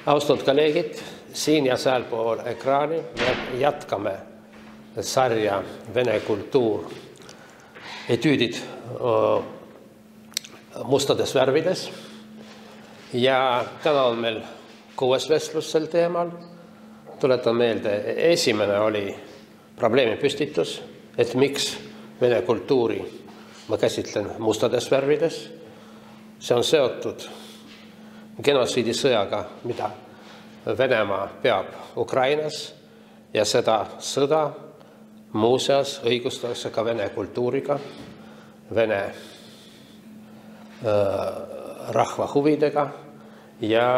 Austatud kolleegid, siin ja sealpool ekraani me jätkame sarja Vene kultuur etüüdid mustades värvides. Ja täna on meil 6. vestlus sel teemal. Tuletan meelde, esimene oli probleemi püstitus, et miks Vene kultuuri ma käsitlen mustades värvides. See on seotud genotsiidisõjaga, mida Venemaa peab Ukrainas, ja seda sõda muuseas õigustatakse ka Vene kultuuriga, Vene rahva huvidega ja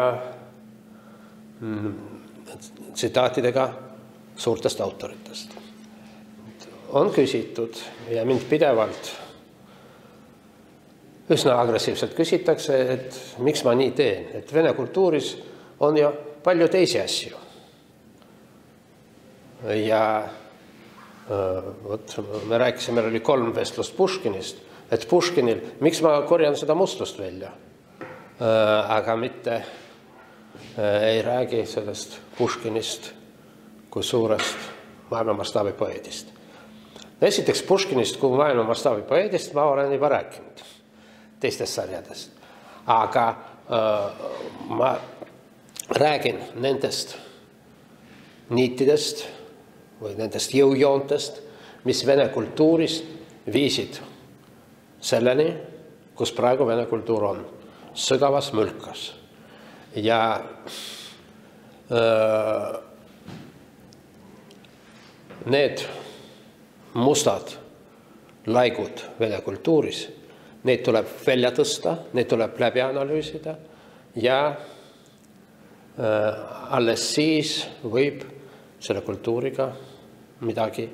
tsitaatidega suurtest autoritest. On küsitud ja mind pidevalt üsna agressiivselt küsitakse, et miks ma nii teen, et Vene kultuuris on ju palju teisi asju. Ja me rääkisime, meil oli 3 vestlust Puškinist, et Puškinil, miks ma korjan seda mustust välja, aga mitte ei räägi sellest Puškinist kui suurest maailmamastaabi poeedist. Esiteks Puškinist kui maailmamastaabi poeedist ma olen juba rääkinud teistest sarjadest. Aga ma räägin nendest niitidest või nendest jõujoontest, mis Vene kultuurist viisid selleni, kus praegu Vene kultuur on, sügavas mülkas. Ja need mustad laigud Vene kultuuris, neid tuleb välja tõsta, neid tuleb läbi analüüsida ja alles siis võib selle kultuuriga midagi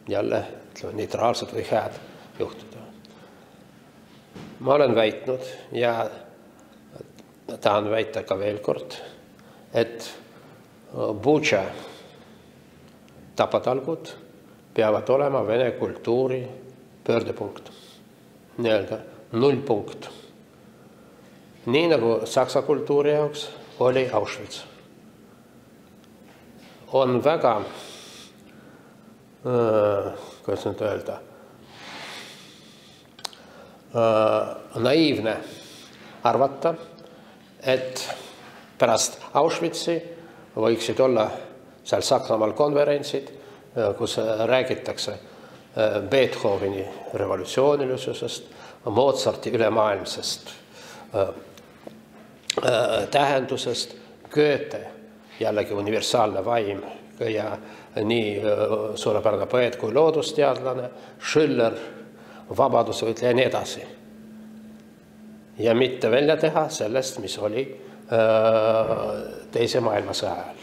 jälle neutraalset või head juhtuda. Ma olen väitnud ja tahan väita ka veel kord, et Butša tapatalgud peavad olema Vene kultuuri pöördepunkt. Nii-öelda nullpunkt. Nii nagu saksa kultuuri jaoks oli Auschwitz. On väga, kuidas nüüd öelda, naiivne arvata, et pärast Auschwitzi võiksid olla seal Saksamaal konverentsid, kus räägitakse Beethoveni revolutsioonilisusest, Mozarti ülemaailmsest tähendusest, Goethe, jällegi universaalne vaim ja nii suurepärane poeet kui loodusteadlane, Schiller, vabadusvõitleja ja nii edasi. Ja mitte välja teha sellest, mis oli teise maailmasõja ajal.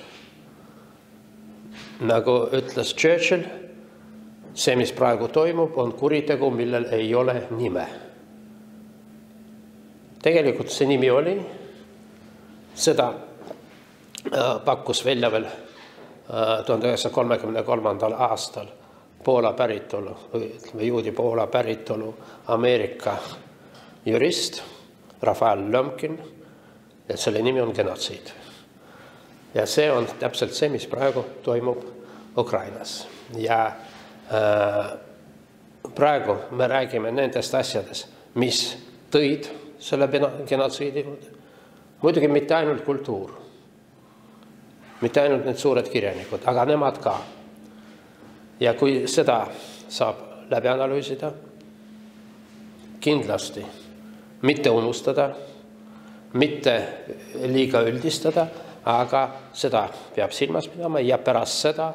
Nagu ütles Churchill, see, mis praegu toimub, on kuritegu, millel ei ole nime. Tegelikult see nimi oli, seda pakkus välja veel 1933. aastal Poola päritolu, või juudi Poola päritolu Ameerika jurist Rafael Lömkin, et selle nimi on genotsiid. Ja see on täpselt see, mis praegu toimub Ukrainas. Ja praegu me räägime nendest asjadest, mis tõid selle genotsiidi. Muidugi mitte ainult kultuur, mitte ainult need suured kirjanikud, aga nemad ka. Ja kui seda saab läbi analüüsida, kindlasti mitte unustada, mitte liiga üldistada, aga seda peab silmas pidama ja pärast seda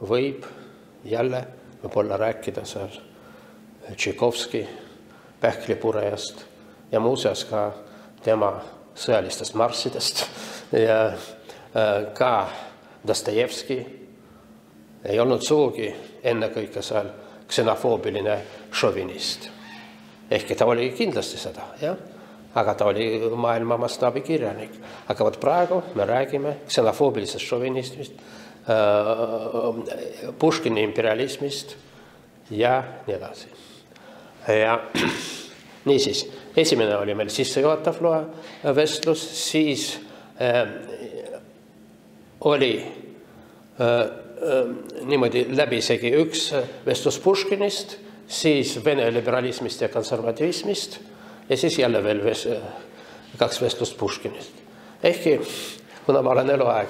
võib jälle võib-olla rääkida seal Tšaikovski pähklipurejast ja muuseas ka tema sõjalistest marssidest ja ka Dostojevski ei olnud sugugi ennekõike seal ksenofoobiline šovinist. Ehkki ta oli kindlasti seda, jah? Aga ta oli maailma mastaabi kirjanik. Aga võt praegu me räägime ksenofoobilisest šovinismist, Puškini imperialismist ja nii edasi. Ja niisiis, esimene oli meil sissejuhatav vestlus, siis oli niimoodi läbisegi üks vestlus Puškinist, siis Vene liberalismist ja konservativismist ja siis jälle veel kaks vestlust Puškinist. Ehkki, kuna ma olen eluaeg,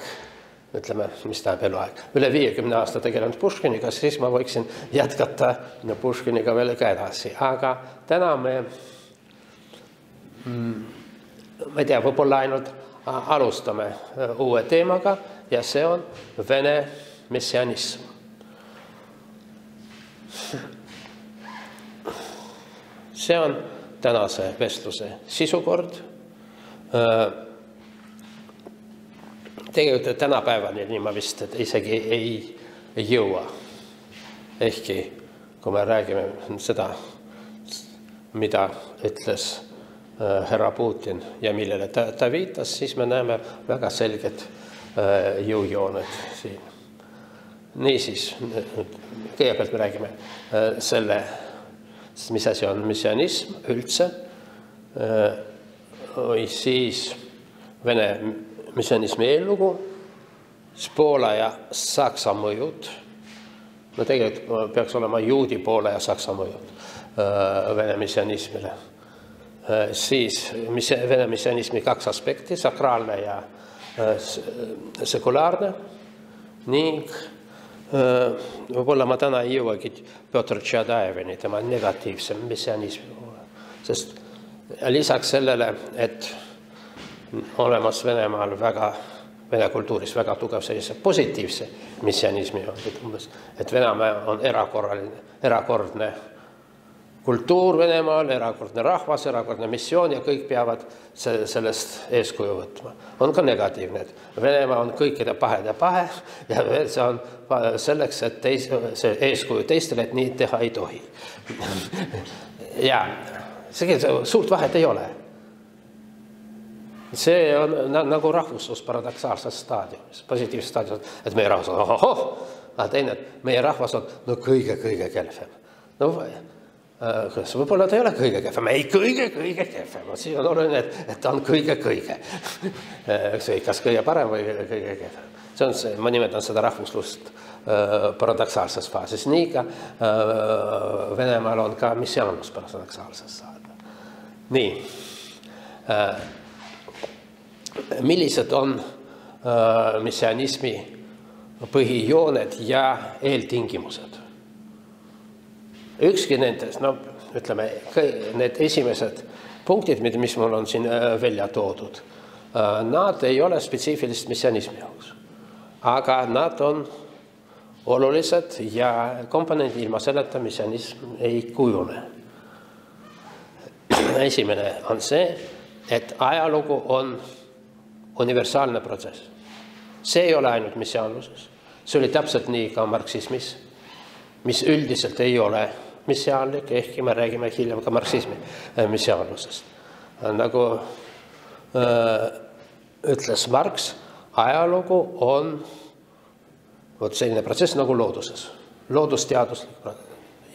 ütleme, mis tähendab eluaeg, üle 50 aasta tegelenud Puškiniga, siis ma võiksin jätkata Puškiniga veel ka edasi. Aga täna me ei tea, võib-olla ainult alustame uue teemaga ja see on Vene messianism. See on tänase vestluse sisukord. Tegelikult tänapäevani nii ma vist isegi ei jõua. Ehkki, kui me räägime seda, mida ütles härra Putin ja millele ta viitas, siis me näeme väga selged jõujooned siin. Niisiis, kõigepealt me räägime selle, mis asi on messianism üldse, või siis Vene messianismi eellugu, Poola ja Saksa mõjud, no tegelikult peaks olema juudi Poola ja Saksa mõjud Vene messianismile. Siis Vene messianismi kaks aspekti, sakraalne ja sekulaarne ning võib-olla ma täna ei jõuagi Pjotr Tšadajevini, tema negatiivse messianismi poole. Sest lisaks sellele, et olemas Venemaal Vene kultuuris väga tugev sellise positiivse messianismi, et Venemaa on erakordne kultuur Venemaal, erakordne rahvas, erakordne missioon ja kõik peavad sellest eeskuju võtma. On ka negatiivne, et Venemaa on kõikide pahede pahe ja see on selleks, et see eeskuju teistele, et nii teha ei tohi. Ja suurt vahet ei ole. See on nagu rahvuslus paradoksaalses staadiumis, positiivses staadiumis, et meie rahvas on aga teine, et meie rahvas on kõige kehvem. No võib-olla ta ei ole kõige kehvem, ei kõige kehvem, siis on oluline, et ta on kõige. Kas kõige parem või kõige kehvem. See on see, ma nimetan seda rahvuslust paradoksaalses faasis. Nii ka Venemaal on ka messiaanlus paradoksaalses saada. Nii. Millised on messianismi põhijooned ja eeltingimused? Ükski nendest, ütleme, need esimesed punktid, mis mul on siin välja toodud, nad ei ole spetsiifilist messianismi jaoks, aga nad on olulised ja komponendid ilma selleta messianism ei kujune. Esimene on see, et ajalugu on universaalne protsess. See ei ole ainult messiaanluses. See oli täpselt nii ka marksismis, mis üldiselt ei ole messiaanlik, ehkki me räägime hiljem ka marksismi messiaanlusest. Nagu ütles Marx, ajalugu on selline protsess nagu looduses. Loodusteaduslik.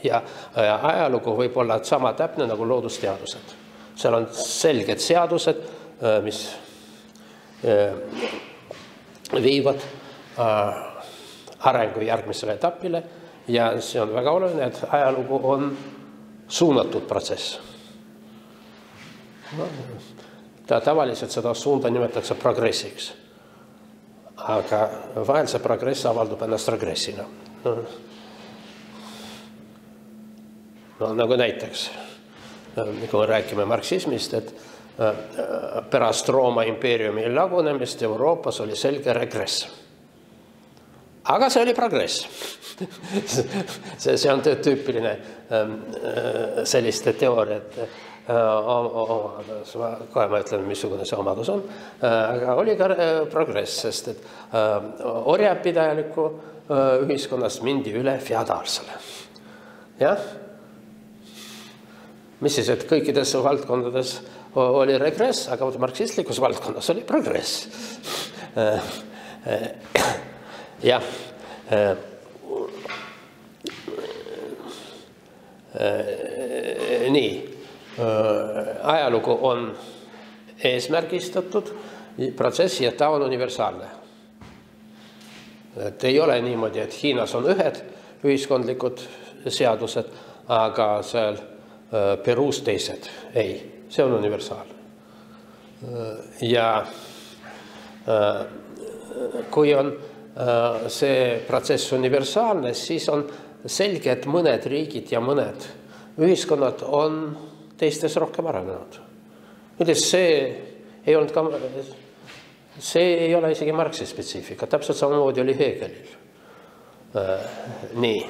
Ja ajalugu võib olla sama täpne nagu loodusteadused. Seal on selged seadused, mis viivad arengu järgmisele etapile ja see on väga oluline, et ajalugu on suunatud protsess. Tavaliselt seda suunda nimetatakse progressiks, aga vahel see progress avaldub ennast regressina. Nagu näiteks, kui räägime marksismist, et pärast Rooma impeeriumi lagunemist Euroopas oli selge regress. Aga see oli progress. See on tüüpiline selliste teooriat. Kohe ma ütlen, missugune see omadus on. Aga oli ka progress, sest et orjapidajaliku ühiskonnast mindi üle feodaalsele. Jah? Mis siis, et kõikides valdkondades oli regress, aga marksistlikus valdkonnas oli progress. Jah. Nii. Ajalugu on eesmärgistatud protsess ja ta on universaalne. Et ei ole niimoodi, et Hiinas on ühed ühiskondlikud seadused, aga seal Peruus teised. Ei, see on universaalne. Ja kui on see protsess universaalne, siis on selge, et mõned riigid ja mõned ühiskonnad on teistes rohkem arenenud. See ei ole isegi Marxi spetsiifika, täpselt samamoodi oli Hegelil. Nii.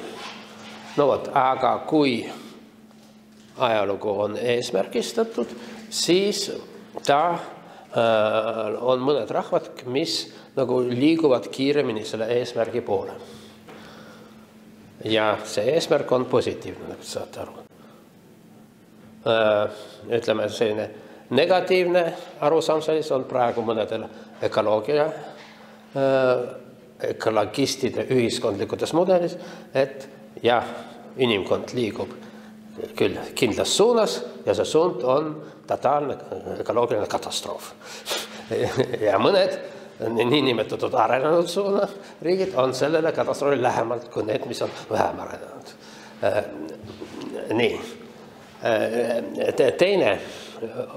No vot, aga kui ajalugu on eesmärgistatud, siis ta on mõned rahvad, mis nagu liiguvad kiiremini selle eesmärgi poole. Ja see eesmärk on positiivne, nagu saate aru. Ütleme, selline negatiivne arusaam sellise on praegu mõnedel ökologistide ühiskondlikutes mudelis, et jah, inimkond liigub küll kindlas suunas ja see suund on totaalne ökoloogiline katastroof. Ja mõned niinimetatud arenenud suuna riigid on sellele katastroofi lähemalt kui need, mis on vähem arenenud. Nii. Teine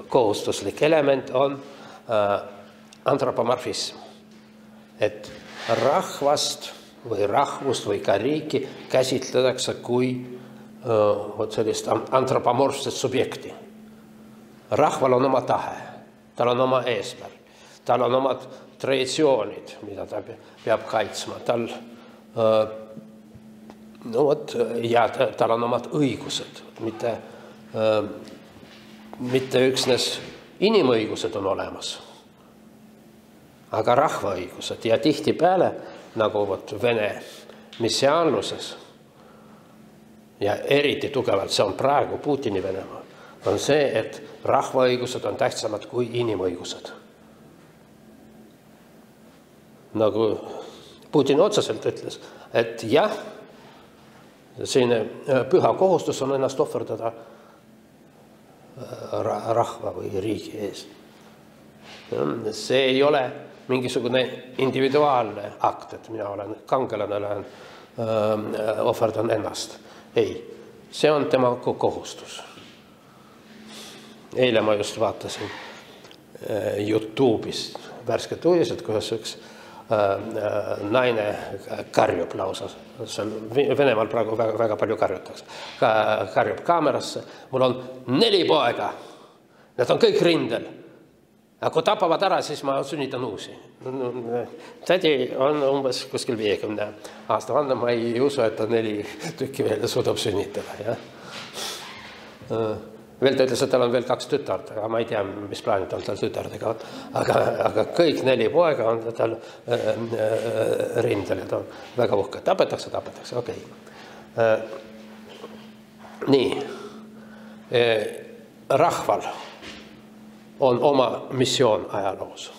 kohustuslik element on antropomorfism. Et rahvast või rahvust või ka riiki käsitletakse kui sellist antropomorfset subjekti. Rahval on oma tahe, tal on oma eesmärk, tal on omad traditsioonid, mida ta peab kaitsma, ja tal on omad õigused, mitte üksnes inimõigused on olemas, aga rahvaõigused ja tihtipeale, nagu Vene missiaanluses ja eriti tugevalt, see on praegu Putini Venemaa, on see, et rahvaõigused on tähtsamad kui inimõigused. Nagu Putin otseselt ütles, et jah, selline püha kohustus on ennast ohverdada rahva või riigi ees. See ei ole mingisugune individuaalne akt, et mina olen kangelane, ohverdan ennast. Ei, see on tema kohustus. Eile ma just vaatasin YouTube'is värsket uudised, kuidas üks naine karjub lausa. Venemaal praegu väga palju karjutakse. Karjub kaamerasse. Mul on 4 poega. Need on kõik rindel. Aga kui tapavad ära, siis ma sünnitan uusi. Tädi on umbes kuskil 50 aasta vanna. Ma ei usu, et ta 4 tükki veel suudab sünnitada. Ja? Veel ta ütles, et tal on veel 2 tütart, aga ma ei tea, mis plaanid on tal tütardega. Aga kõik 4 poega on tal rindel ja ta on väga uhke. Tapetakse, okei. Nii. Rahval on oma missioon ajaloos.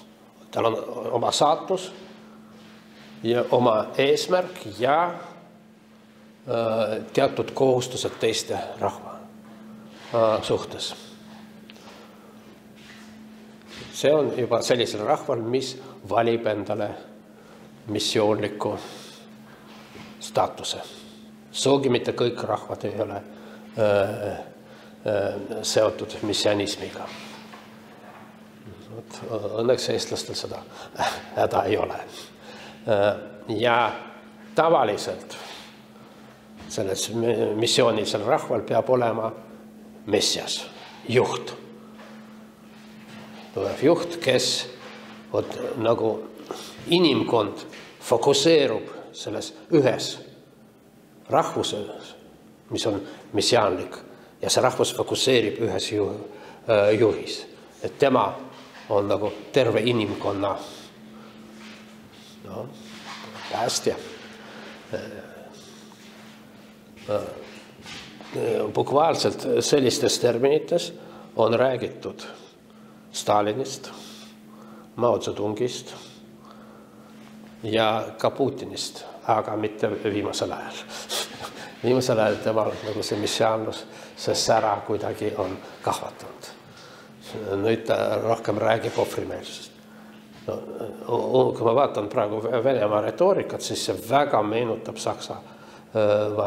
Tal on oma saatus ja oma eesmärk ja teatud kohustused teiste rahva suhtes. See on juba sellisel rahval, mis valib endale missioonliku staatuse. Sugugi mitte kõik rahvad ei ole seotud missionismiga. Õnneks eestlastel seda häda ei ole. Ja tavaliselt selles missioonisel rahval peab olema messias, juht. Tuleb juht, kes nagu inimkond fokuseerub selles ühes rahvuses, mis on missiaanlik, ja see rahvus fokuseerib ühes juhis. Et tema on nagu terve inimkonna päästja. Bukvaalselt sellistes terminites on räägitud Stalinist, Mao Zedongist ja ka Putinist, aga mitte viimasel ajal. Viimasel ajal tema nagu see missiaanlus, see sära kuidagi on kahvatanud. Nüüd ta rohkem räägib ohvrimeelsust. kui ma vaatan praegu Venemaa retoorikat, siis see väga meenutab Saksa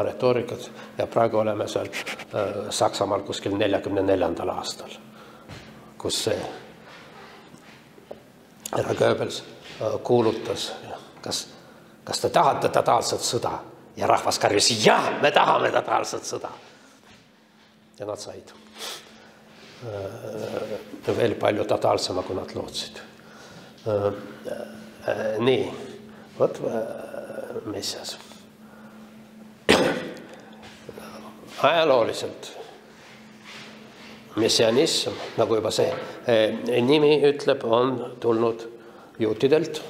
retoorikat ja praegu oleme seal Saksamaal kuskil 44. aastal, kus see härra Goebbels kuulutas, kas te tahate totaalset sõda? Ja rahvas karjus, jah, me tahame totaalset sõda. Ja nad said. Veel palju totaalsema, kui nad lootsid. Nii, vot Messias. Ajalooliselt messianism, nagu juba see nimi ütleb, on tulnud juutidelt,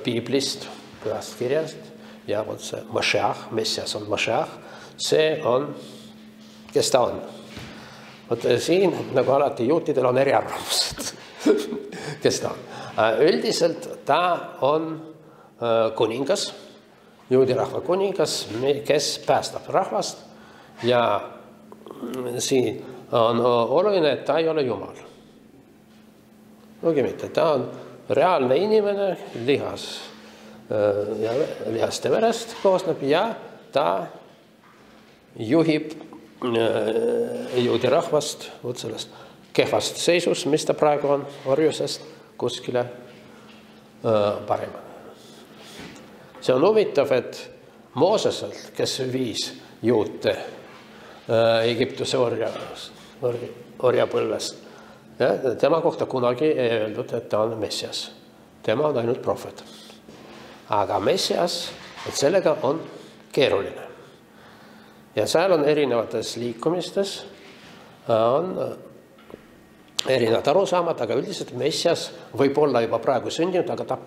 piiblist, pühast kirjast ja vot see Mashiach, Messias on Mashiach, see on, kes ta on. Vot siin, nagu alati juutidel on eriarvamused, kes ta on. Üldiselt ta on kuningas, juudi rahva kuningas, kes päästab rahvast ja siin on oluline, et ta ei ole Jumal. Nugi mitte, ta on reaalne inimene, lihast ja verest koosneb ja ta juhib juudi rahvast võt sellest kehvast seisus, mis ta praegu on orjusest kuskile parema. See on huvitav, et Mooseselt, kes viis juute Egiptuse orjapõlvest. Tema kohta kunagi ei öeldud, et ta on Messias. Tema on ainult prohvet. Aga Messias, et sellega on keeruline. Ja seal on erinevates liikumistes on erinevad arusaamad, aga üldiselt Messias võib olla juba praegu sündinud, aga ta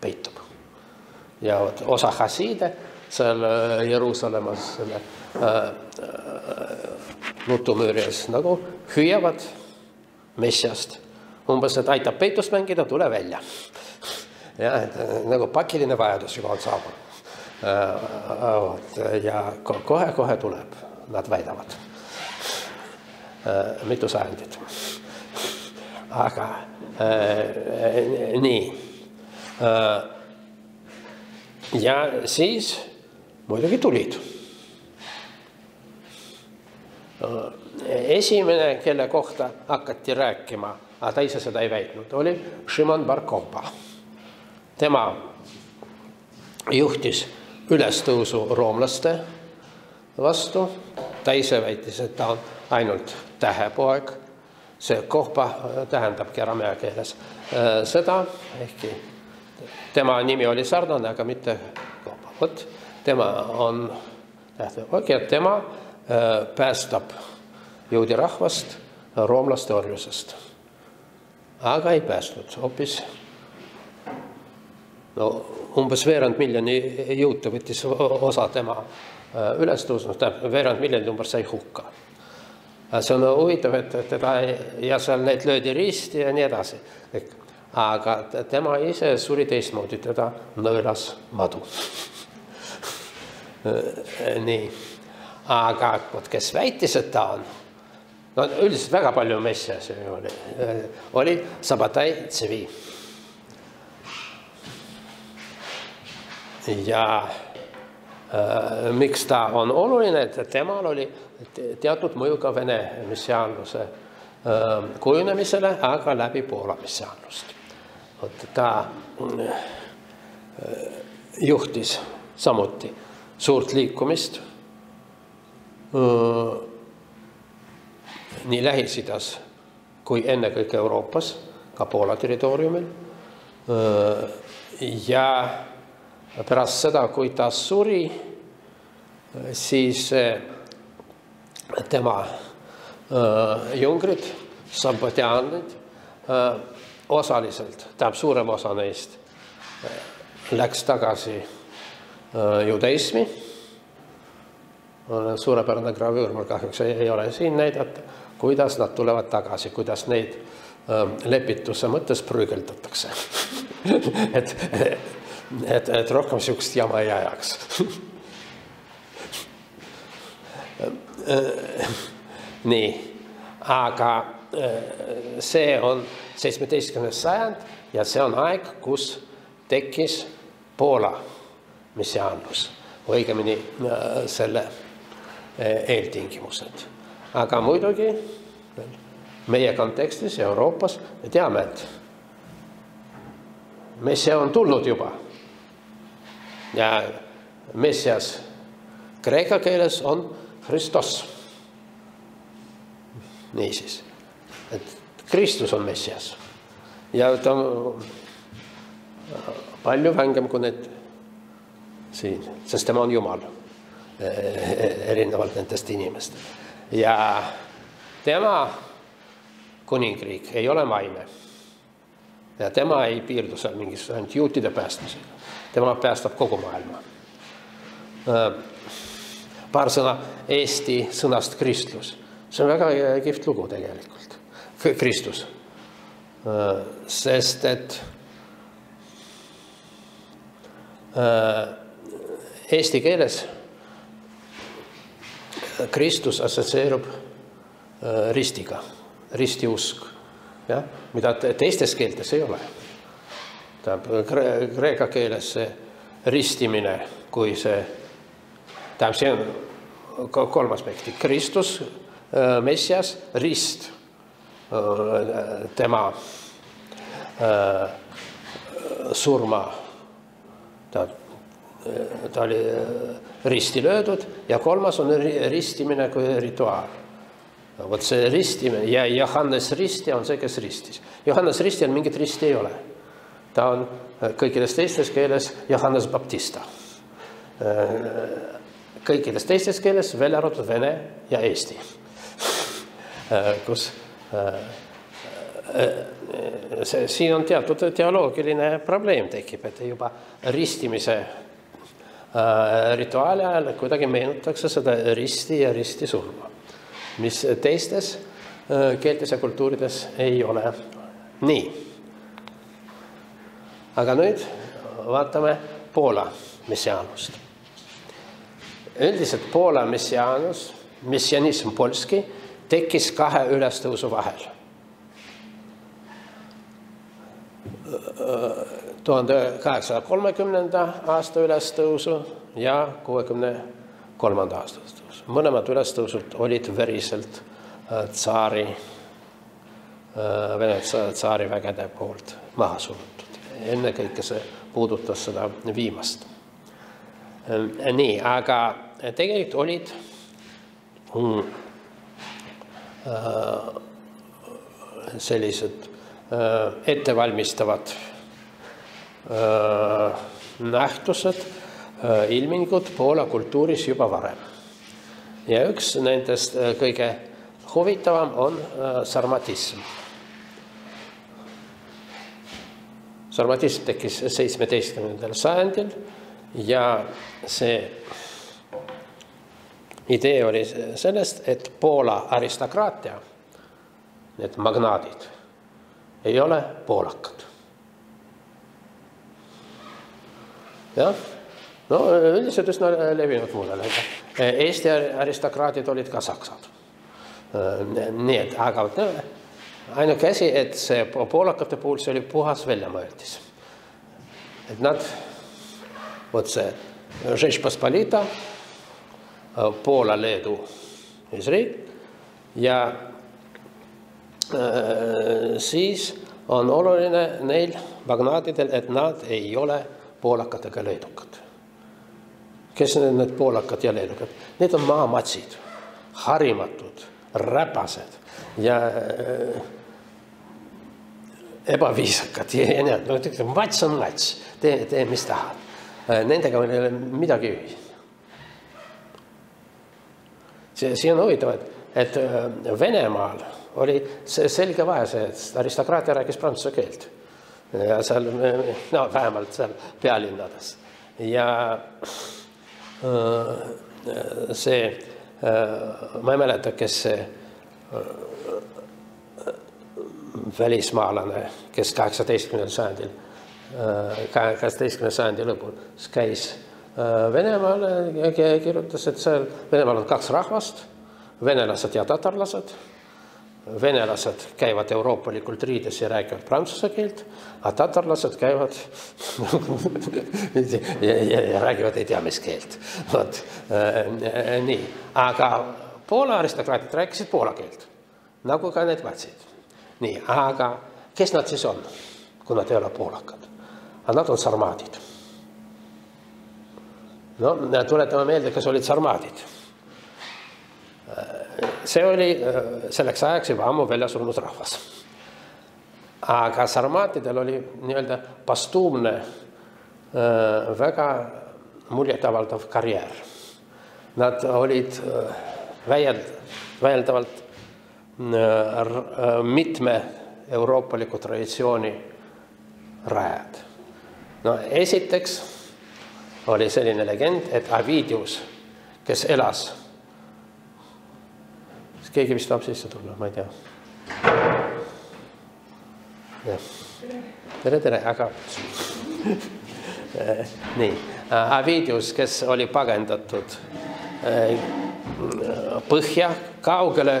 peitub. Ja osa hasiide seal Jeruusalemmas selle nutumüüri ees nagu hüüavad Messiast. Umbes, et aitab peitust mängida, tule välja. Ja nagu pakiline vajadus juba on saabunud. Ja kohe tuleb, nad väidavad. Mitu sajandit. Aga nii. Ja siis muidugi tulid. Esimene, kelle kohta hakati rääkima, aga ta ise seda ei väitnud, oli Šimon bar Kokhba. Tema juhtis ülestõusu roomlaste vastu. Ta ise väitis, et ta on ainult tähepoeg. See Kokhba tähendabki aramea keeles seda, ehkki tema nimi oli sarnane, aga mitte Kokhba. Vot, tema on tähtepoeg ja tema päästab juudi rahvast roomlaste orjusest. Aga ei päästnud, hoopis umbes veerand miljoni juute võttis osa tema ülestõusnud, veerand miljonit umbes sai hukka. See on huvitav, et teda ja seal need löödi risti ja nii edasi. Aga tema ise suri teistmoodi, teda nõelas madu. Nii. Aga kes väitis, et ta on, üldiselt väga palju Messias oli Sabbatai Tzvi. Ja miks ta on oluline, et temal oli teatud mõju ka Vene messiaanluse kujunemisele, aga läbi Poola messiaanlust. Ta juhtis samuti suurt liikumist nii Lähis-Idas kui ennekõike Euroopas, ka Poola territooriumil. Ja pärast seda, kui ta suri, siis tema jungrid, sabbatiaanid, osaliselt, tähendab suurem osa neist, läks tagasi judaismi. Suurepärane gravüür, mul kahjuks ei ole siin näidata, kuidas nad tulevad tagasi, kuidas neid lepituse mõttes prügeldatakse. Et rohkem sihukest jama ei ajaks. Nii, aga see on 17. sajand ja see on aeg, kus tekkis Poola messiaanlus, õigemini selle eeltingimused. Aga muidugi meie kontekstis Euroopas me teame, et messia on tulnud juba. Ja messias kreeka keeles on Hristos. Niisiis, et Kristus on messias. Ja ta on palju vängem kui need siin, sest tema on Jumal, erinevalt nendest inimestest. Ja tema kuningriik ei ole maine. Ja tema ei piirdu seal mingis ainult juutide päästmisega. Tema päästab kogu maailma. Paar sõna eesti sõnast Kristus. See on väga kihvt lugu tegelikult. Kristus. Sest et eesti keeles Kristus assotsieerub ristiga, ristiusk, ja? Mida teistes keeltes ei ole. Kreeka keeles see ristimine, kui see on kolm aspekti. Kristus, messias, rist, tema surma, ta oli risti löödud ja kolmas on ristimine kui rituaal. Vot see ristimine ja Johannes Ristja on see, kes ristis. Johannes Ristjal mingit risti ei ole. Ta on kõikides teistes keeles Johannes Baptista. Kõikides teistes keeles välja arvatud vene ja eesti. Kus siin on teatud teoloogiline probleem tekib, et juba ristimise rituaali ajal kuidagi meenutakse seda risti ja risti surma, mis teistes keeltes ja kultuurides ei ole nii. Aga nüüd vaatame Poola messiaanust. Üldiselt Poola messiaanus, messianism polski, tekkis kahe ülestõusu vahel. 1830. aasta ülestõusu ja 63. aasta ülestõusu. Mõlemad ülestõusud olid veriselt Vene tsaari vägede poolt maha surutud. Enne kõike see puudutas seda viimast. Nii, aga tegelikult olid sellised ettevalmistavad nähtused, ilmingud Poola kultuuris juba varem. Ja üks nendest kõige huvitavam on sarmatism. Sarmatism tekkis 17. sajandil ja see idee oli sellest, et Poola aristokraatia, need magnaadid, ei ole poolakad. Jah, no üldiselt üsna levinud muudele. Eesti aristokraadid olid ka saksad. Nii et, aga ainuke asi, et see poolakate puhul see oli puhas väljamõeldis. Et nad, vot see Žečpospolita, Poola, Leedu, Izrael ja siis on oluline neil magnaadidel, et nad ei ole poolakad ega leedukad. Kes on need poolakad ja leedukad? Need on maamatsid, harimatud, räpased ja ebaviisakad. No, mats on mats, tee mis tahad. Nendega ei ole midagi ühist. Siin on huvitav, et Venemaal oli selge vahe see, et aristokraatia rääkis prantsuse keelt. Ja seal, no vähemalt seal pealinnades. Ja see, ma ei mäleta, kes see välismaalane, kes 18. sajandil, 18. sajandi lõpul käis Venemaal kirjutas, et seal Venemaal on kaks rahvast, venelased ja tatarlased, venelased käivad euroopalikult riides ja räägivad prantsuse keelt, aga tatarlased käivad ja räägivad ei tea mis keelt. Nii. Aga Poola aristokraatid rääkisid poola keelt, nagu ka need vatsid. Nii, aga kes nad siis on, kui nad ei ole poolakad? Nad on sarmaadid. No, tuletame meelde, kes olid sarmaadid. See oli selleks ajaks juba ammu välja surnud rahvas. Aga sarmaatidel oli nii-öelda pastuumne, väga muljetavaldav karjäär. Nad olid väieldavalt mitme euroopaliku traditsiooni rajad. No, esiteks oli selline legend, et Avidius, kes elas, keegi vist tahab sisse tulla, ma ei tea. Tere, aga nii. Avidius, kes oli pagendatud põhja, kaugele,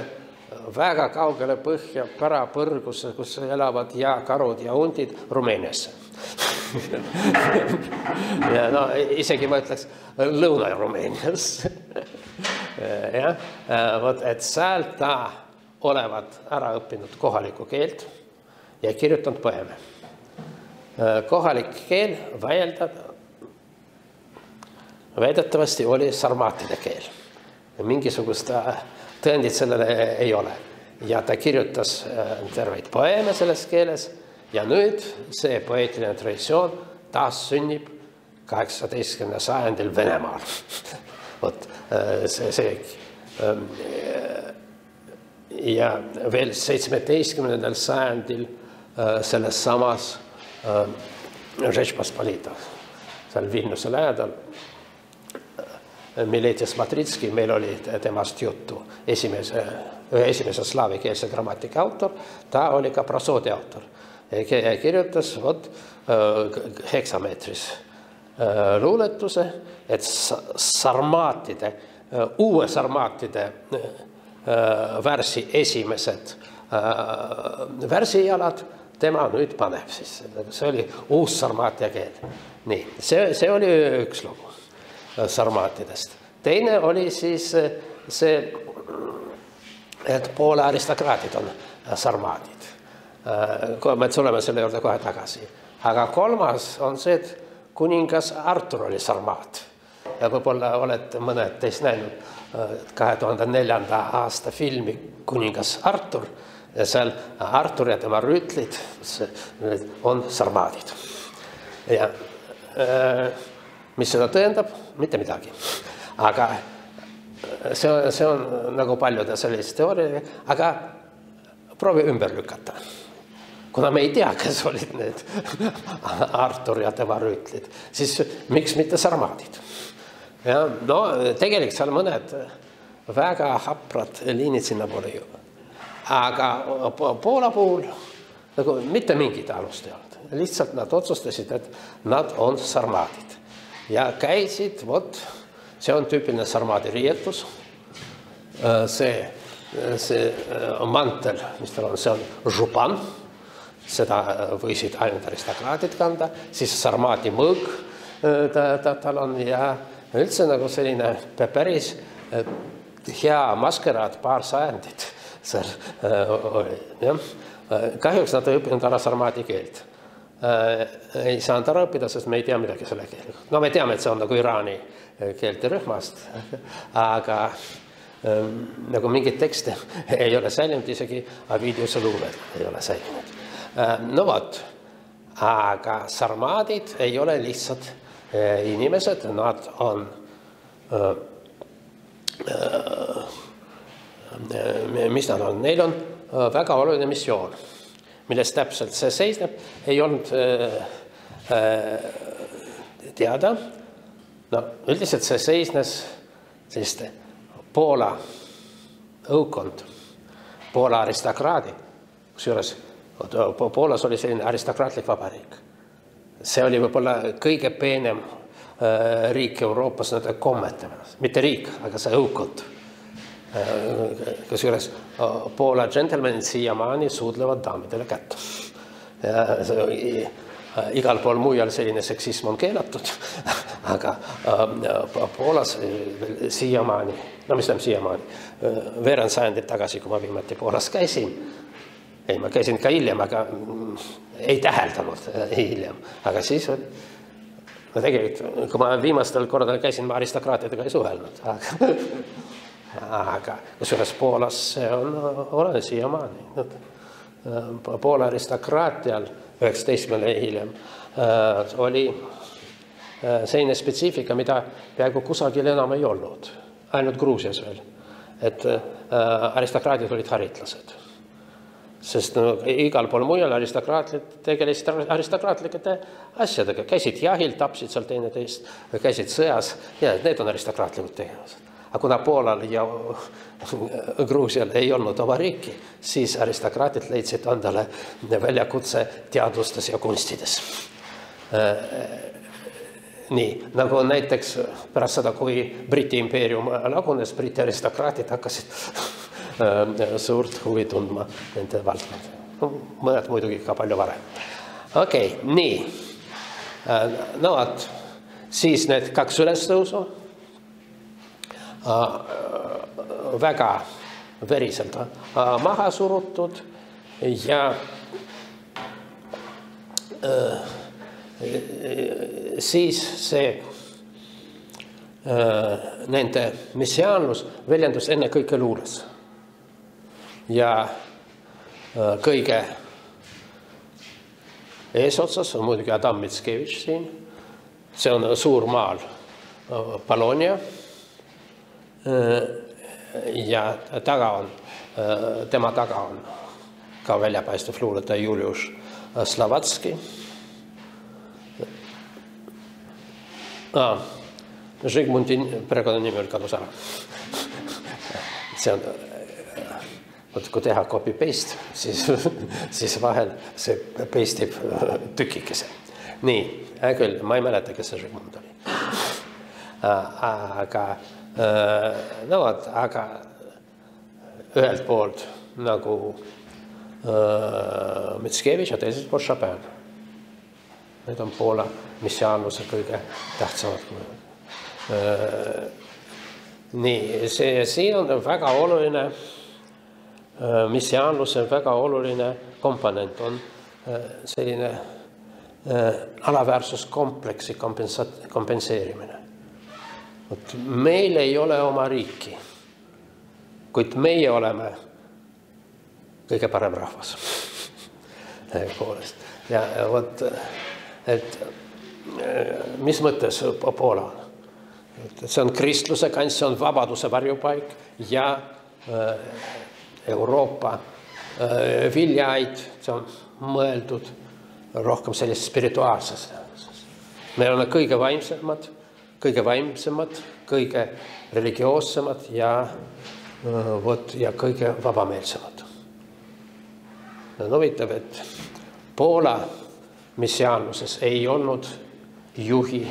väga kaugele põhja, pärapõrgusse, kus elavad jääkarud ja hundid Rumeeniasse. Ja no, isegi ma ütleks Lõuna-Rumeenias. Ja, et sealt ta olevat ära õppinud kohalikku keelt ja kirjutanud poeme. Kohalik keel väidetavasti oli sarmaatide keel. Mingisugust tõendit sellele ei ole. Ja ta kirjutas terveid poeme selles keeles ja nüüd see poeetiline traditsioon taas sünnib 18. sajandil Venemaal. See ja veel 17. sajandil selles samas Žečpospolitas, seal Vilniuse lähedal Miletis Matritski, meil oli temast juttu, esimese slaavikeelse grammatika autor, ta oli ka prosoodi autor. Kirjutas heksameetris luuletuse, et sarmaatide, uue sarmaatide värsi esimesed värsijalad tema nüüd paneb siis. See oli uus sarmaatia keel. Nii, see oli üks lugu sarmaatidest. Teine oli siis see, et Poola aristokraadid on sarmaadid. Me tuleme selle juurde kohe tagasi. Aga kolmas on see, et kuningas Artur oli sarmaat. Ja võib-olla olete mõned teist näinud 2004. aasta filmi Kuningas Artur. Ja seal Artur ja tema rüütlid on sarmaadid. Ja mis seda tõendab? Mitte midagi. Aga see on nagu paljude sellist teooria, aga proovi ümber lükata. Kuna me ei tea, kes olid need Artur ja tema rüütlid, siis miks mitte sarmaadid? Ja, no, tegelikult seal mõned väga haprad liinid sinna poole ju. Aga Poola puhul nagu mitte mingit alust ei olnud. Lihtsalt nad otsustasid, et nad on sarmaadid. Ja käisid, see on tüüpiline sarmaadi riietus. See mantel, mis tal on, see on župan. Seda võisid ainult aristokraadid kanda, siis sarmaadi mõõg tal on ja üldse nagu selline päris hea maskeraad paar sajandit seal oli. Kahjuks nad ei õppinud ära sarmaadi keelt. Ei saanud ära õppida, sest me ei tea midagi selle keele. No me teame, et see on nagu Iraani keelte rühmast, aga nagu mingid tekste ei ole säilinud, isegi Avidiuse luuled ei ole säilinud. No vot, aga sarmaadid ei ole lihtsalt inimesed, nad on mis nad on? Neil on väga oluline missioon, millest täpselt see seisneb, ei olnud teada. No, üldiselt see seisnes selliste Poola õukond, Poola aristokraadi, kusjuures Poolas oli selline aristokraatlik vabariik. See oli võib-olla kõige peenem riik Euroopas nende kommete. Mitte riik, aga see õukond. Kusjuures Poola džentelmenid siiamaani suudlevad daamidele kätt. Igal pool mujal selline seksism on keelatud, aga Poolas siiamaani, no mis tähendab siiamaani, veerand sajandit tagasi, kui ma viimati Poolas käisin, ma käisin ka hiljem, aga ei täheldanud hiljem, aga siis no tegelikult, kui ma viimastel kordadel käisin, ma aristokraatidega ei suhelnud, aga kusjuures Poolas see on olemas siiamaani. Poola aristokraatial 19. hiljem oli selline spetsiifika, mida peaaegu kusagil enam ei olnud, ainult Gruusias veel, et aristokraadid olid haritlased. Sest igal pool mujal aristokraatid tegelesid aristokraatlike asjadega, käisid jahil, tapsid seal teineteist, käisid sõjas ja need on aristokraatlikud tegevused. Aga kuna Poolal ja Gruusial ei olnud oma riiki, siis aristokraatid leidsid endale väljakutse teadustes ja kunstides. Nii, nagu näiteks pärast seda, kui Briti impeerium lagunes, Briti aristokraatid hakkasid suurt huvi tundma nende valdkonda. Mõned muidugi ka palju varem. Okei, nii. No, siis need 2 ülestõusu väga veriselt maha surutud ja siis see nende messiaanlus väljendus enne kõike luules. Ja kõige eesotsas on muidugi Adam Mickiewicz siin. See on suur maal Polonia. Ja tema taga on ka väljapaistev luuletaja Julius Slavatski. Žigmundi perekonnanimi oli kadus ära. See on, kui teha copy-paste, siis vahel see pasteib tükikese. Nii, küll, ma ei mäleta, kes see Žigmund oli. Aga ühelt poolt nagu Mickiewicz ja teiselt poolt Chopin. Need on Poola missiaanluse kõige tähtsamad. Nii, siin on väga oluline, missiaanluse väga oluline komponent on selline alaväärsuskompleksi kompenseerimine. Meil ei ole oma riiki, kuid meie oleme kõige parem rahvas. Ja võt, et mis mõttes Poola on? See on kristluse kants, see on vabaduse varjupaik ja Euroopa viljaid, see on mõeldud rohkem sellist spirituaalses. Me oleme kõige vaimsemad, kõige religioossemad ja kõige vabameelsemad. Huvitav, et Poola missiaanluses ei olnud juhi,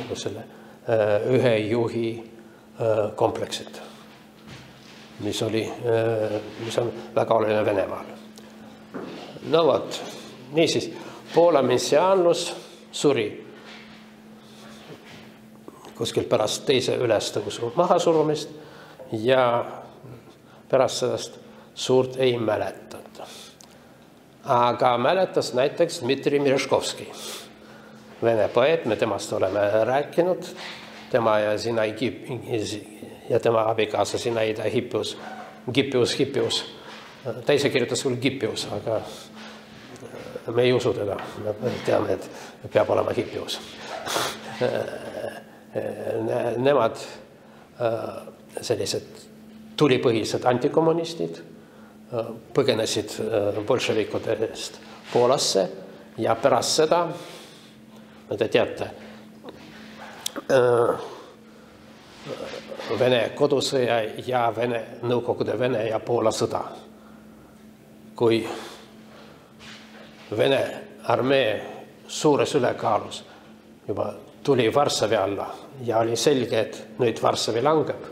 ühe juhi kompleksid, mis on väga oluline Venemaal. No vot, niisiis, Poola missiaanlus suri kuskil pärast teise ülestõusu mahasurumist ja pärast sellest suurt ei mäletata. Aga mäletas näiteks Dmitri Merezhkovski, vene poeet, me temast oleme rääkinud, tema ja tema abikaasa Zinaida Hippius. Ta ise kirjutas küll Hippius, aga me ei usu teda, me teame, et peab olema Hippius. Nemad sellised tulipõhised antikommunistid põgenesid bolševikudest Poolasse ja pärast seda, te teate, Vene kodusõja ja Nõukogude Vene ja Poola sõda. Kui Vene armee suures ülekaalus juba tuli Varssavi alla ja oli selge, et nüüd Varssavi langeb,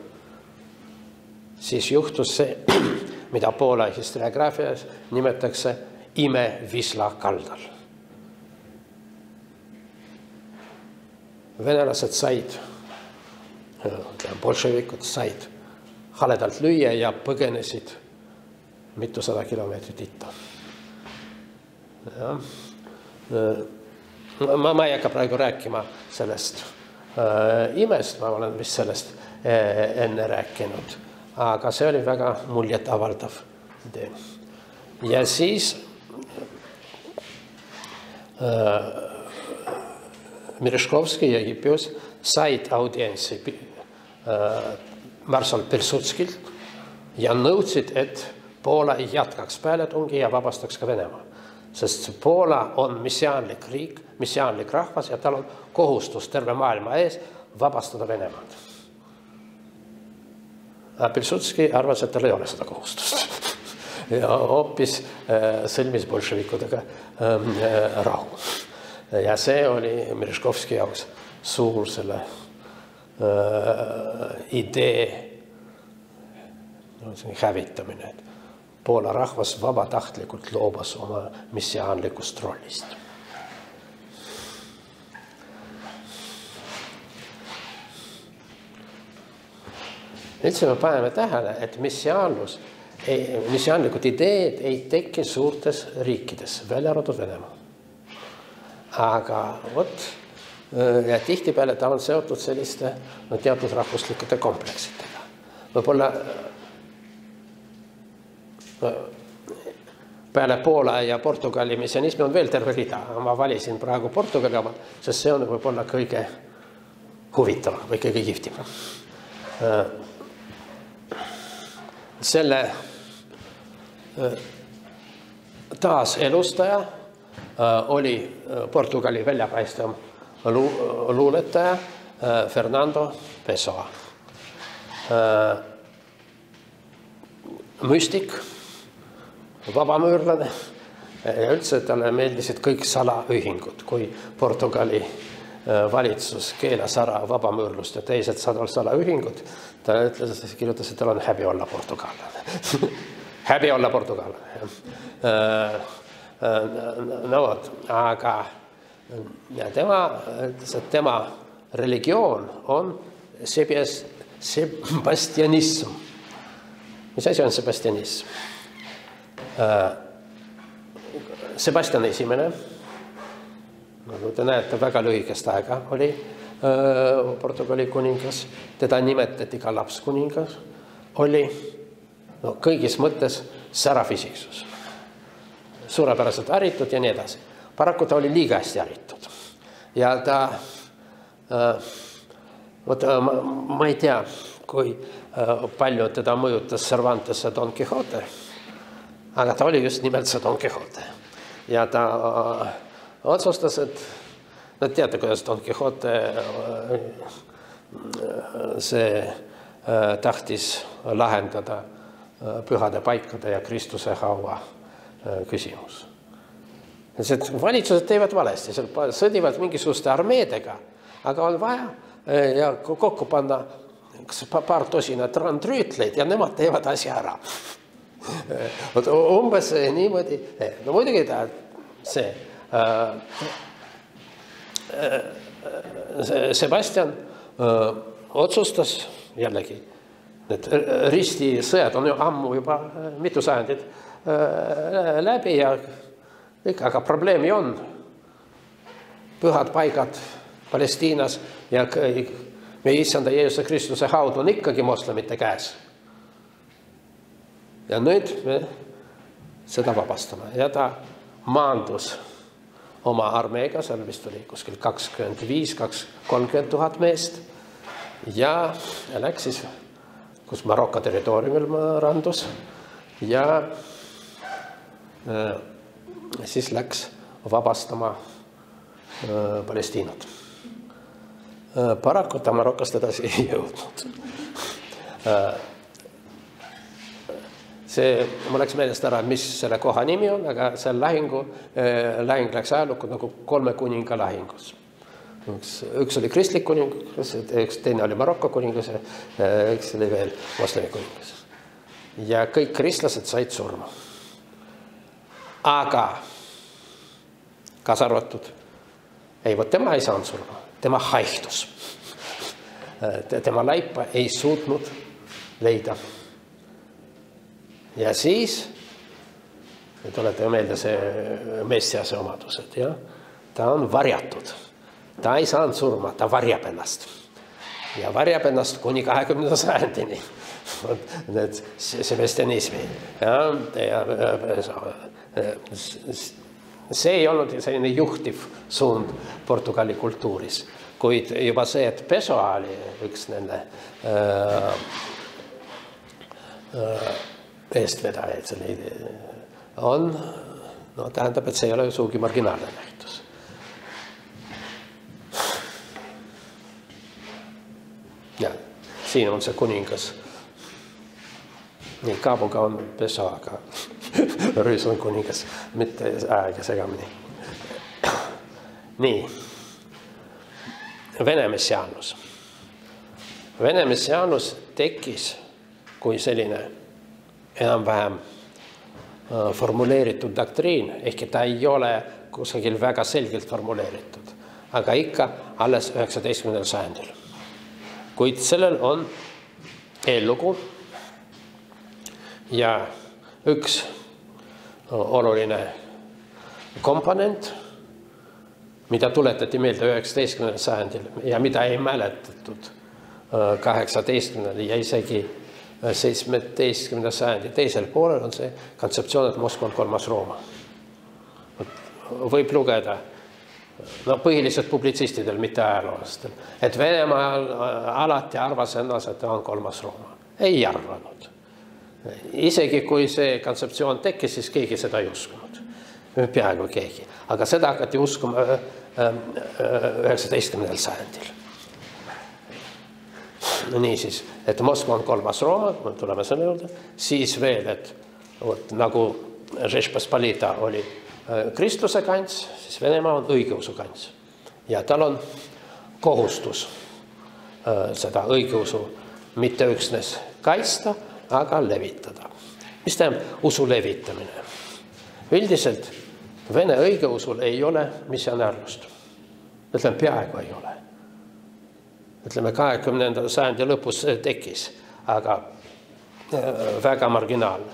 siis juhtus see, mida Poola historiograafias nimetatakse ime Wisla kaldal. Venelased said, bolševikud said haledalt lüüa ja põgenesid mitusada kilomeetrit itta. Ma ei hakka praegu rääkima sellest imest, ma olen vist sellest enne rääkinud, aga see oli väga muljet avaldav idee. Ja siis Merezhkovski ja Hipius said audientsi marssal Pilsudskilt ja nõudsid, et Poola jätkaks pealetungi ja vabastaks ka Venemaa. Sest Poola on messiaanlik riik, messiaanlik rahvas ja tal on kohustus terve maailma ees vabastada Venemaad. A Pilsudski arvas, et tal ei ole seda kohustust. Ja hoopis sõlmis bolševikudega rahu. Ja see oli Merezhkovski jaoks suur selle idee hävitamine, et Poola rahvas vabatahtlikult loobus oma messiaanlikust rollist. Üldse me paneme tähele, et messiaanlikud ideed ei teki suurtes riikides, välja arvatud Venemaa. Aga ja tihtipeale ta on seotud selliste teatud rahvuslikute kompleksitega. Võib-olla peale Poola ja Portugali messianismi on veel terve rida. Ma valisin praegu Portugali oma, sest see on võib-olla kõige huvitavam või kõige kihvtim. Selle taaselustaja oli Portugali väljapaistev luuletaja Fernando Pessoa. Müstik, vabamüürlane ja üldse talle meeldisid kõik salaühingud. Kui Portugali valitsus keelas ära vabamüürlust ja teised salaühingud, ta ütles, et kirjutas, et tal on häbi olla portugallane. Häbi olla portugallane. No vot, aga tema religioon on sebastianism. Mis asi on sebastianism? Sebastian esimene, nagu te näete, väga lühikest aega oli Portugali kuningas, teda nimetati ka lapskuningas, oli kõigis mõttes särafisiksus. Suurepäraselt haritud ja nii edasi. Paraku ta oli liiga hästi haritud. Ja ta, ma ei tea, kui palju teda mõjutas Cervantes ja Don Quixote, aga ta oli just nimelt see Don Quixote. Ja ta otsustas, et teate, kuidas Don Quixote see tahtis lahendada pühade paikade ja Kristuse haua küsimus. Valitsused teevad valesti, sõdivad mingisuguste armeedega, aga on vaja ja kokku panna paar tosinat randrüütleid ja nemad teevad asja ära. Umbes niimoodi, no muidugi ta see Sebastian otsustas jällegi, et ristisõjad on ju ammu juba mitu sajandit läbi ja aga probleemi on. Pühad paigad Palestiinas ja meie issanda Jeesuse Kristuse haud on ikkagi moslemite käes. Ja nüüd me seda vabastame. Ja ta maandus oma armeega, seal vist oli kuskil 25-30 000 meest ja läks siis, kus Maroko territooriumil randus ja siis läks vabastama Palestiinat. Paraku ta Marokost edasi ei jõudnud. Mul läks meelest ära, mis selle koha nimi on, aga see lahing läks ajalukku nagu 3 kuninga lahingus. Üks oli kristlik kuningas, üks teine oli Maroko kuningas, üks oli veel moslemi kuningas. ja kõik kristlased said surma. Aga kaasa arvatud, tema ei saanud surma, tema haihtus. Tema laipa ei suutnud leida. Ja siis, tulete meelde see Messiase omadused, ja? Ta on varjatud. Ta ei saanud surma, ta varjab ennast. Ja varjab ennast kuni 20. sajandini. Sebastianismi. See ei olnud selline juhtiv suund Portugali kultuuris, kuid juba see, et Pessoa oli üks nende eestvedajaid, on, tähendab, et see ei ole suugi marginaalne nähtus. Ja, siin on see kuningas. Nii, Kaabuga on Pessoa, aga Rüüs on kuningas, mitte aega segamini. Nii. Vene messiaanus. Vene messiaanus tekkis kui selline enam-vähem formuleeritud doktriin, ehkki ta ei ole kusagil väga selgelt formuleeritud, aga ikka alles 19. sajandil. Kuid sellel on eellugu ja üks oluline komponent, mida tuletati meelde 19. sajandil ja mida ei mäletatud 18. ja isegi 17. sajandi teisel poolel on see kontseptsioon, et Moskva on 3. Rooma. Võib lugeda, põhiliselt publitsistidel, mitte ajaloolastel, et Venemaal alati arvas ennast, et ta on 3. Rooma. Ei arvanud. Isegi kui see kontseptsioon tekkis, siis keegi seda ei uskunud. Peaaegu keegi. Aga seda hakati uskuma 19. sajandil. Niisiis, et Moskva on 3. Rooma, tuleme selle juurde, siis veel, et nagu Žečpospolita oli kristluse kants, siis Venemaa on õigeusu kants. Ja tal on kohustus seda õigeusu mitte üksnes kaitsta, aga levitada. Mis tähendab usu levitamine? Üldiselt Vene õigeusul ei ole missionäärlust. Ütleme, peaaegu ei ole. Ütleme, 20. sajandi lõpus tekkis, aga väga marginaalne.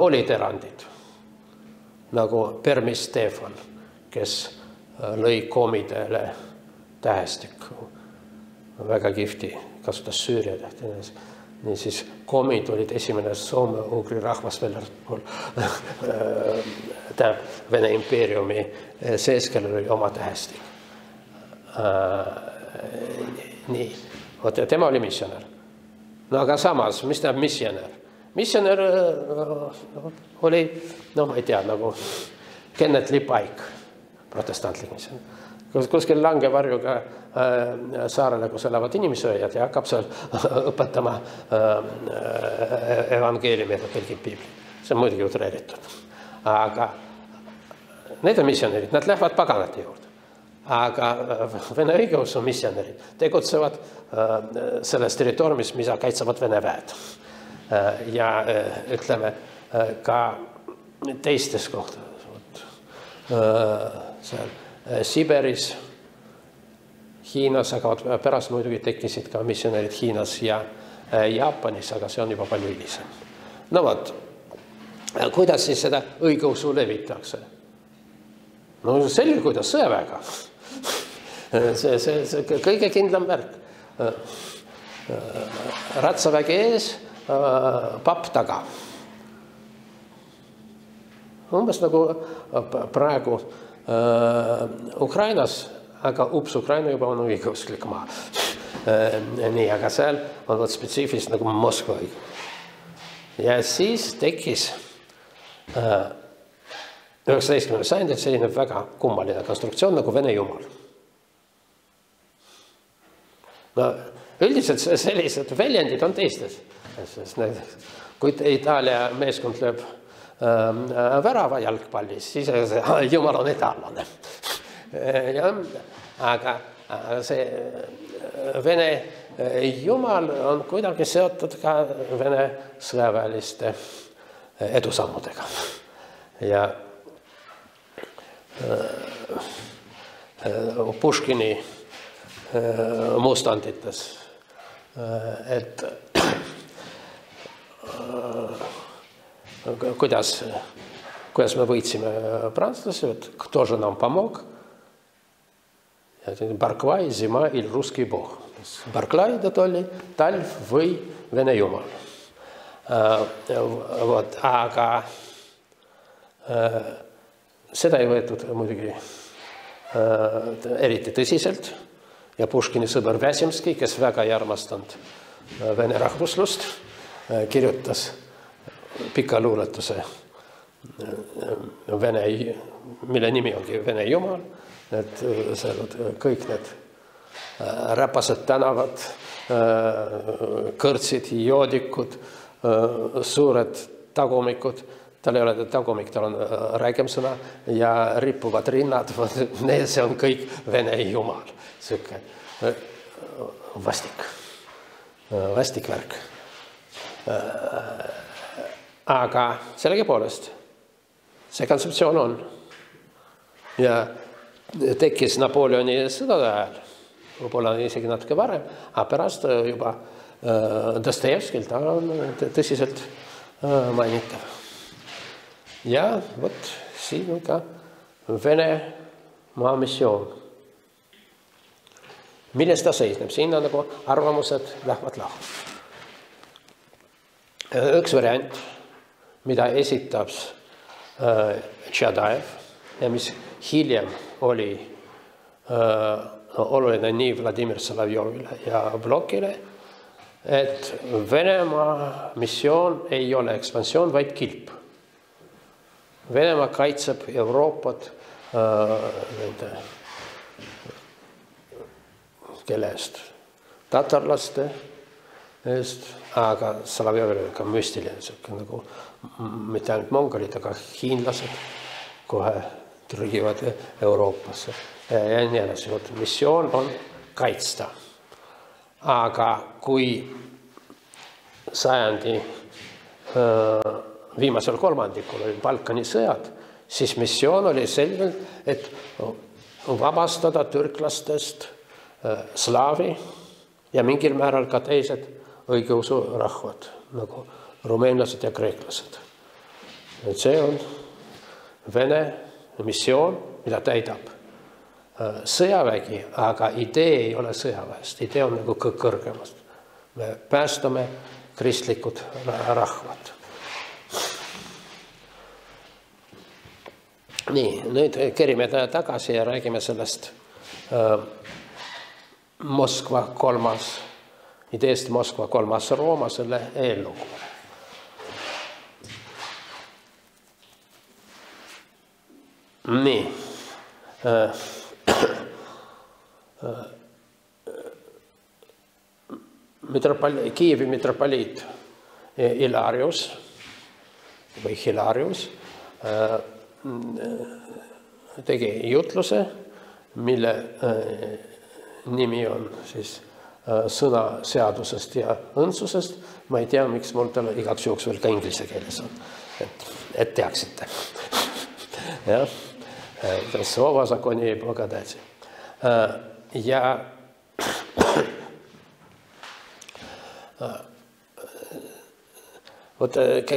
Olid erandid, nagu Permis Stefan, kes lõi komidele tähestikku. Väga kihvti, kasutas Süüria tähti. Niisiis, komid olid esimene soome-ugri rahvas veel Vene impeeriumi sees, kellel oli oma tähestik. Nii, tema oli missionär. No aga samas, mis tähendab missionär? Missionär oli, ma ei tea, nagu Kenneth Lipaik, protestantlik missionär. Kuskil langevarjuga saarele, kus elavad inimsööjad ja hakkab seal õpetama evangeeliumi ja tõlgib piiblit. See on muidugi utreeritud. Aga need on missionärid, nad lähevad paganate juurde. Aga Vene õigeusu missionärid tegutsevad selles territooriumis, mida kaitsevad Vene väed. Ja ütleme ka teistes kohtades. Seal Siberis, Hiinas, aga pärast muidugi tekkisid ka missionärid Hiinas ja Jaapanis, aga see on juba palju hilisem. No vot, kuidas siis seda õigeusu levitakse? No selge, kuidas sõjaväega. See kõige kindlam värk. Ratsavägi ees, papp taga. Umbes nagu praegu Ukrainas, aga Ukraina juba on õigeusklik maa. Nii, aga seal on spetsiifiliselt nagu Moskva. Ja siis tekkis 19. sajandil selline väga kummaline konstruktsioon nagu Vene jumal. No, üldiselt sellised väljendid on teistes. Kui Itaalia meeskond lööb värava jalgpallis, siis jumal on itaallane. Aga see Vene Jumal on kuidagi seotud ka Vene sõjaväeliste edusammudega. Ja Puškini mustandites, et kuidas me võitsime prantslasi, et кто же нам помог? Barclay, zima il ruski bog. Barclay oli talv või Vene jumal. Aga seda ei võetud muidugi eriti tõsiselt ja Puškini sõber Väsimski, kes väga ei armastanud Vene rahvuslust, kirjutas pika luuletuse, mille nimi ongi Vene jumal, et kõik need räpased tänavad, kõrtsid, joodikud, suured tagumikud, tal ei ole tagumik, tal on räigem sõna ja rippuvad rinnad, see on kõik Vene jumal. Siuke vastik värk. Aga sellegipoolest see kontseptsioon on ja tekkis Napoleoni sõdade ajal, võib-olla isegi natuke varem, aga pärast juba Dostojevskil ta on tõsiselt mainitav. Ja vot siin on ka Venemaa missioon. Milles ta seisneb? Siin on nagu arvamused lähevad lahku. Üks variant, mida esitab Tšadaev ja mis hiljem oli oluline nii Vladimir Solovjovile ja Blokile, et Venemaa missioon ei ole ekspansioon, vaid kilp. Venemaa kaitseb Euroopat kelle eest? Tatarlaste eest, aga Solovjovil oli ka müstiline, nagu mitte ainult mongolid, aga hiinlased kohe trügivad Euroopasse ja nii edasi. Missioon on kaitsta. Aga kui sajandi viimasel kolmandikul oli Balkani sõjad, siis missioon oli selgelt, et vabastada türklastest slaavi ja mingil määral ka teised õigeusu rahvad, nagu rumeenlased ja kreeklased. Et see on Vene missioon, mida täidab sõjavägi, aga idee ei ole sõjaväest, idee on nagu kõrgemast. Me päästame kristlikud rahvad. Nii, nüüd kerime tagasi ja räägime sellest Moskva kolmas, ideest Moskva kolmas Rooma, selle eellugu. Nii. Kiievi mitropoliit Hilarius või Hilarius tegi jutluse, mille nimi on siis sõna seadusest ja õndsusest. Ma ei tea, miks mul tal igaks juhuks veel ka inglise keeles on, et teaksite. Jah, Slova zakoni ei благодати. Ja vot,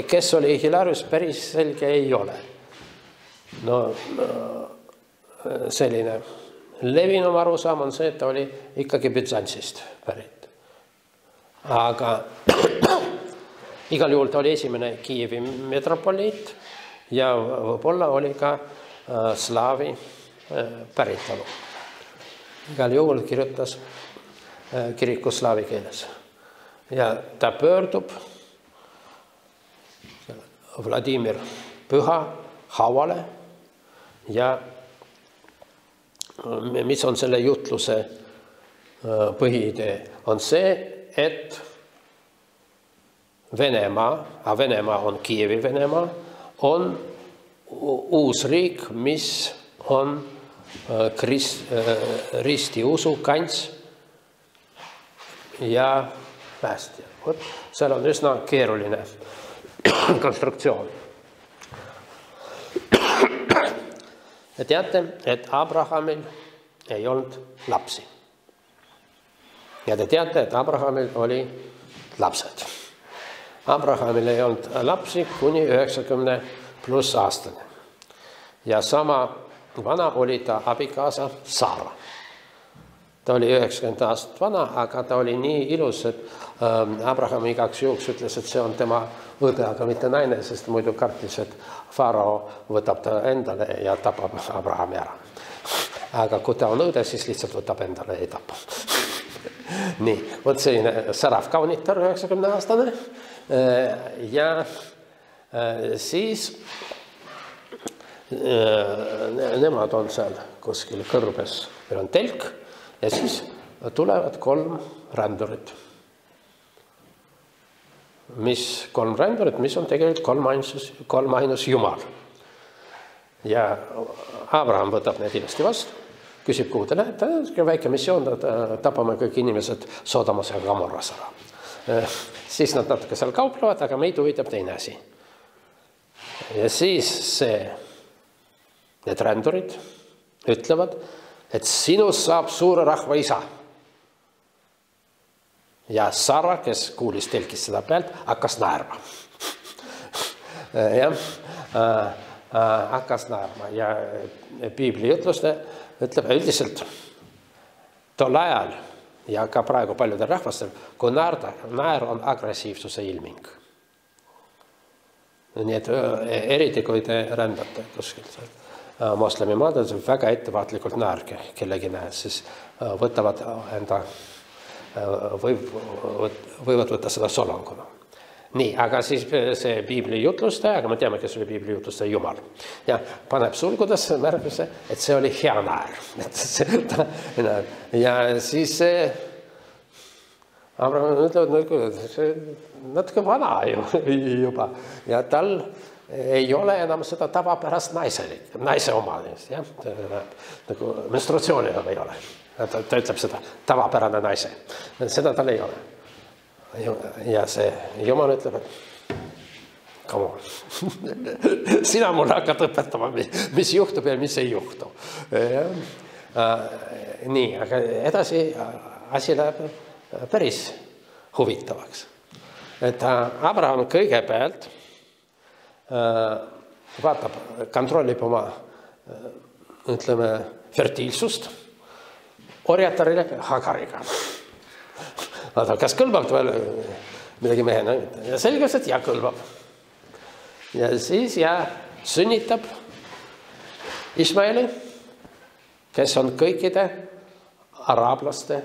kes oli Hilarius, päris selge ei ole. No selline levinum arusaam on see, et ta oli ikkagi Büzantsist pärit. Aga igal juhul ta oli esimene Kiievi metropoliit ja võib-olla oli ka slaavi päritolu. Igal juhul kirjutas kiriku slaavi keeles. Ja ta pöördub Vladimir Püha hauale ja mis on selle jutluse põhiidee? On see, et Venemaa, a Venemaa on Kiievi Venemaa, on uus riik, mis on ristiusu kants ja päästja. Seal on üsna keeruline konstruktsioon. Te teate, et Abrahamil ei olnud lapsi. Ja te teate, et Abrahamil oli lapsed. Abrahamil ei olnud lapsi kuni 90+ aastane. Ja sama vana oli ta abikaasa Saara. Ta oli 90 aastat vana, aga ta oli nii ilus, et Abraham igaks juhuks ütles, et see on tema õde, aga mitte naine, sest muidu kartis, et Farao võtab ta endale ja tapab Abrahami ära. Aga kui ta on õde, siis lihtsalt võtab endale ja ei tapa. Nii, võt selline särav kaunitar 90 aastane ja siis nemad on seal kuskil kõrbes, meil on telk ja siis tulevad 3 rändurit. Mis 3 rändurit, mis on tegelikult 3 ainus Jumal. Ja Abraham võtab need ilusti vastu, küsib, kuhu te lähete, väike missioon, tapame kõik inimesed Sodomas ja Gomorras ära. Siis nad natuke seal kauplevad, aga meid huvitab teine asi. Ja siis need rändurid ütlevad, et sinust saab suure rahva isa. Ja Sara, kes kuulis telkis seda pealt, hakkas naerma. Hakkas naerma ja piibli jutluste ütleb üldiselt tol ajal ja ka praegu paljudel rahvastel, kui naer on agressiivsuse ilming. Nii et eriti kui te rändate kuskilt moslemi maadel, väga ettevaatlikult naerge kellegi näes, siis võtavad enda, võivad võtta seda solanguna. Nii, aga siis see piibli jutlustaja, aga me teame, kes oli piibli jutlustaja Jumal. Ja paneb sulgudesse märguse, et see oli hea naer. Ja siis Abraham ütleb, natuke vana juba. Ja tal ei ole enam seda tavapärast naise omalist. Nagu menstruatsiooni ei ole. Ta ütleb seda tavapärane naise. Seda tal ei ole. Ja see Jumal ütleb, et come on. Sina mulle hakkad õpetama, mis juhtub ja mis ei juhtu. Nii, aga edasi asi läheb päris huvitavaks. Et Abraham kõigepealt vaatab, kontrollib oma, ütleme, fertiilsust orjatarile Hagariga. Vaata, kas kõlbab veel midagi mehena? Ja selgus, et ja kõlbab. Ja siis sünnitab Ismaeli, kes on kõikide araablaste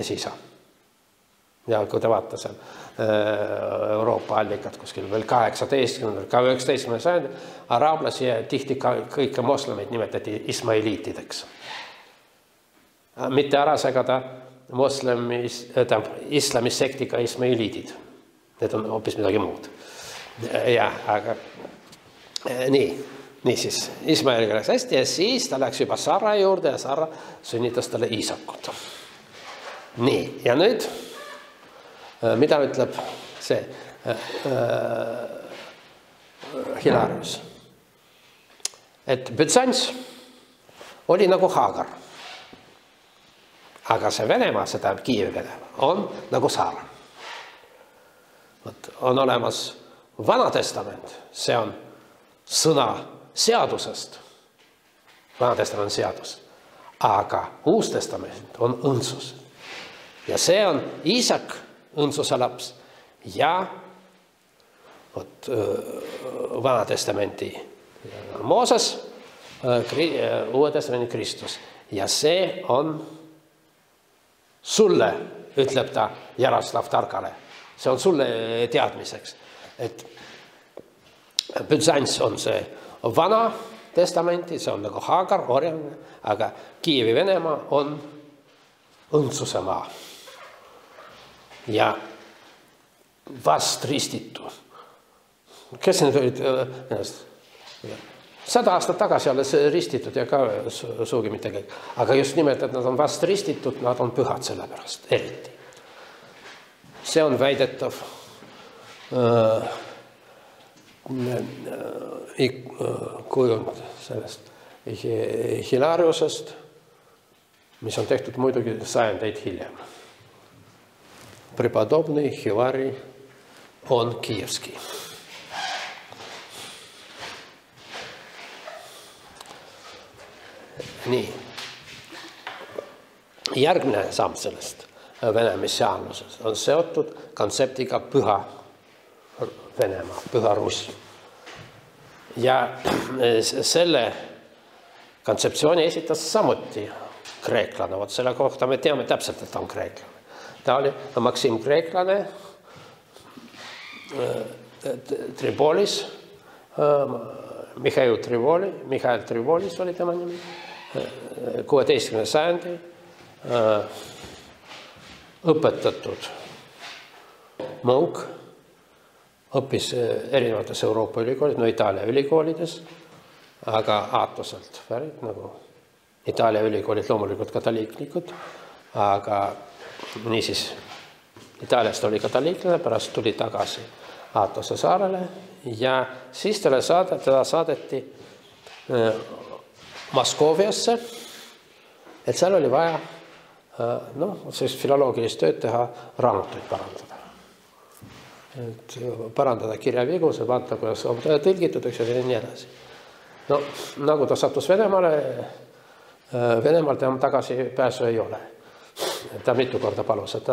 esisa. Ja kui te vaata seal Euroopa allikad kuskil veel 18. ka 19. sajandi, araablasi ja tihti kõike moslemeid nimetati ismailiitideks. Mitte ära segada islamisektiga ismailiidid. Need on hoopis midagi muud. Ja, aga nii siis Ismaeliga läks hästi ja siis ta läks juba Sara juurde ja Sara sünnitas talle Iisakut. Nii, ja nüüd, mida ütleb see Hilarius? Et Bütsants oli nagu Hagar. Aga see Venemaa, see tähendab Kiievi Venemaa, on nagu Saara. On olemas Vana Testament, see on sõna seadusest. Vana Testament on seadus. Aga Uus Testament on õndsus. Ja see on Iisak, õndsuse laps, ja Vana Testamenti Mooses, Uue Testamenti Kristus. Ja see on sulle, ütleb ta Jaroslav Targale. See on sulle teadmiseks. Et Bütsants on see Vana Testamenti, see on nagu Hagar, orjane, aga Kiievi Venemaa on õndsuse maa. Ja vast ristitu. Kes need olid? 100 aastat tagasi alles ristitud ja ka suugi mitte kõik. Aga just nimelt, et nad on vast ristitud, nad on pühad selle pärast, eriti. see on väidetav kujund sellest Hilariusest, mis on tehtud muidugi sajandeid hiljem. Prepodobный Hilari on Kiievski. Nii. Järgmine samm sellest Vene messiaanlusest on seotud kontseptiga Püha Venemaa, Püha Russ. Ja selle kontseptsiooni esitas samuti kreeklane. Vot selle kohta me teame täpselt, et ta on kreeklane. Ta oli Maksim Kreeklane Tribolis, Mihhail Tribolis oli tema nimi, 16. sajandi õpetatud munk, õppis erinevates Euroopa ülikoolid, no Itaalia ülikoolides, aga Aatoselt pärit, nagu Itaalia ülikoolid loomulikult katoliiklikud, aga niisiis Itaaliast oli katoliiklane, pärast tuli tagasi Aatose saarele ja siis teda saadeti Moskooviasse, et seal oli vaja sellist filoloogilist tööd teha, raamatuid parandada. Et parandada kirjavigu, see vaata, kuidas on tõlgitud, eks ja nii edasi. No, nagu ta sattus Venemaale, Venemaal tema tagasi pääsu ei ole. Ta mitu korda palus, et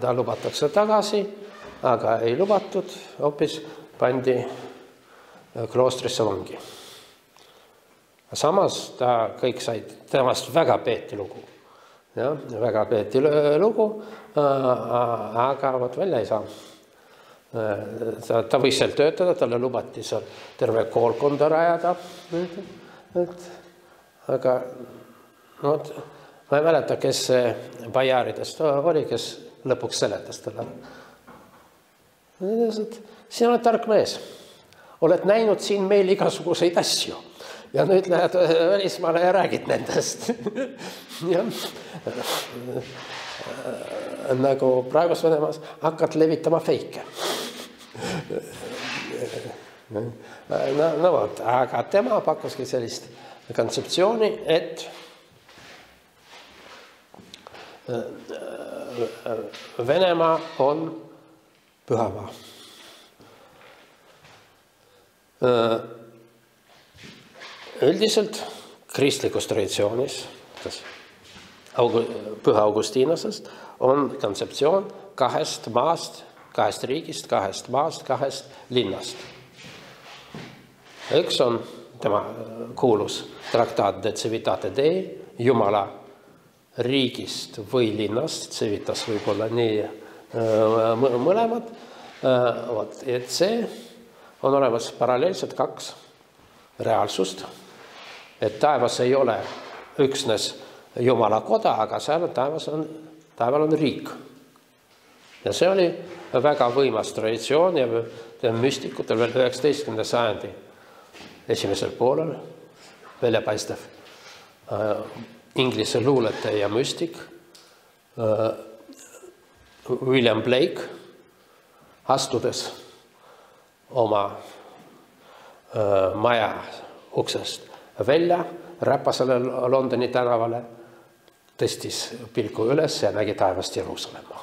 ta lubatakse tagasi, aga ei lubatud, hoopis pandi kloostrisse vangi. Samas ta kõik said, temast väga peeti lugu. Ja, väga peeti lugu, aga vot välja ei saa. Ta võis seal töötada, talle lubati seal terve koolkonda rajada. Aga ma ei mäleta, kes bajaridest oli, kes lõpuks seletas talle. Sina oled tark mees. Oled näinud siin meil igasuguseid asju. Ja nüüd lähed välismaale ja räägid nendest. Nagu praegus Venemaas hakkad levitama feike. No vot, aga tema pakkuski sellist kontseptsiooni, et Venemaa on pühamaa. Üldiselt kristlikus traditsioonis, Püha Augustinasest, on kontseptsioon kahest maast, kahest riigist, kahest maast, kahest linnast. Üks on tema kuulus traktaat de civitate Dei, Jumala riigist või linnast, civitas võib olla nii mõlemad, et see on olemas paralleelselt kaks reaalsust, et taevas ei ole üksnes Jumala koda, aga seal taeval on riik. Ja see oli väga võimas traditsioon ja müstikutel veel 19. sajandi esimesel poolel väljapaistev inglise luulete ja müstik William Blake, astudes oma maja uksest välja, räpasele Londoni tänavale, tõstis pilku üles ja nägi taevast Jeruusalemma.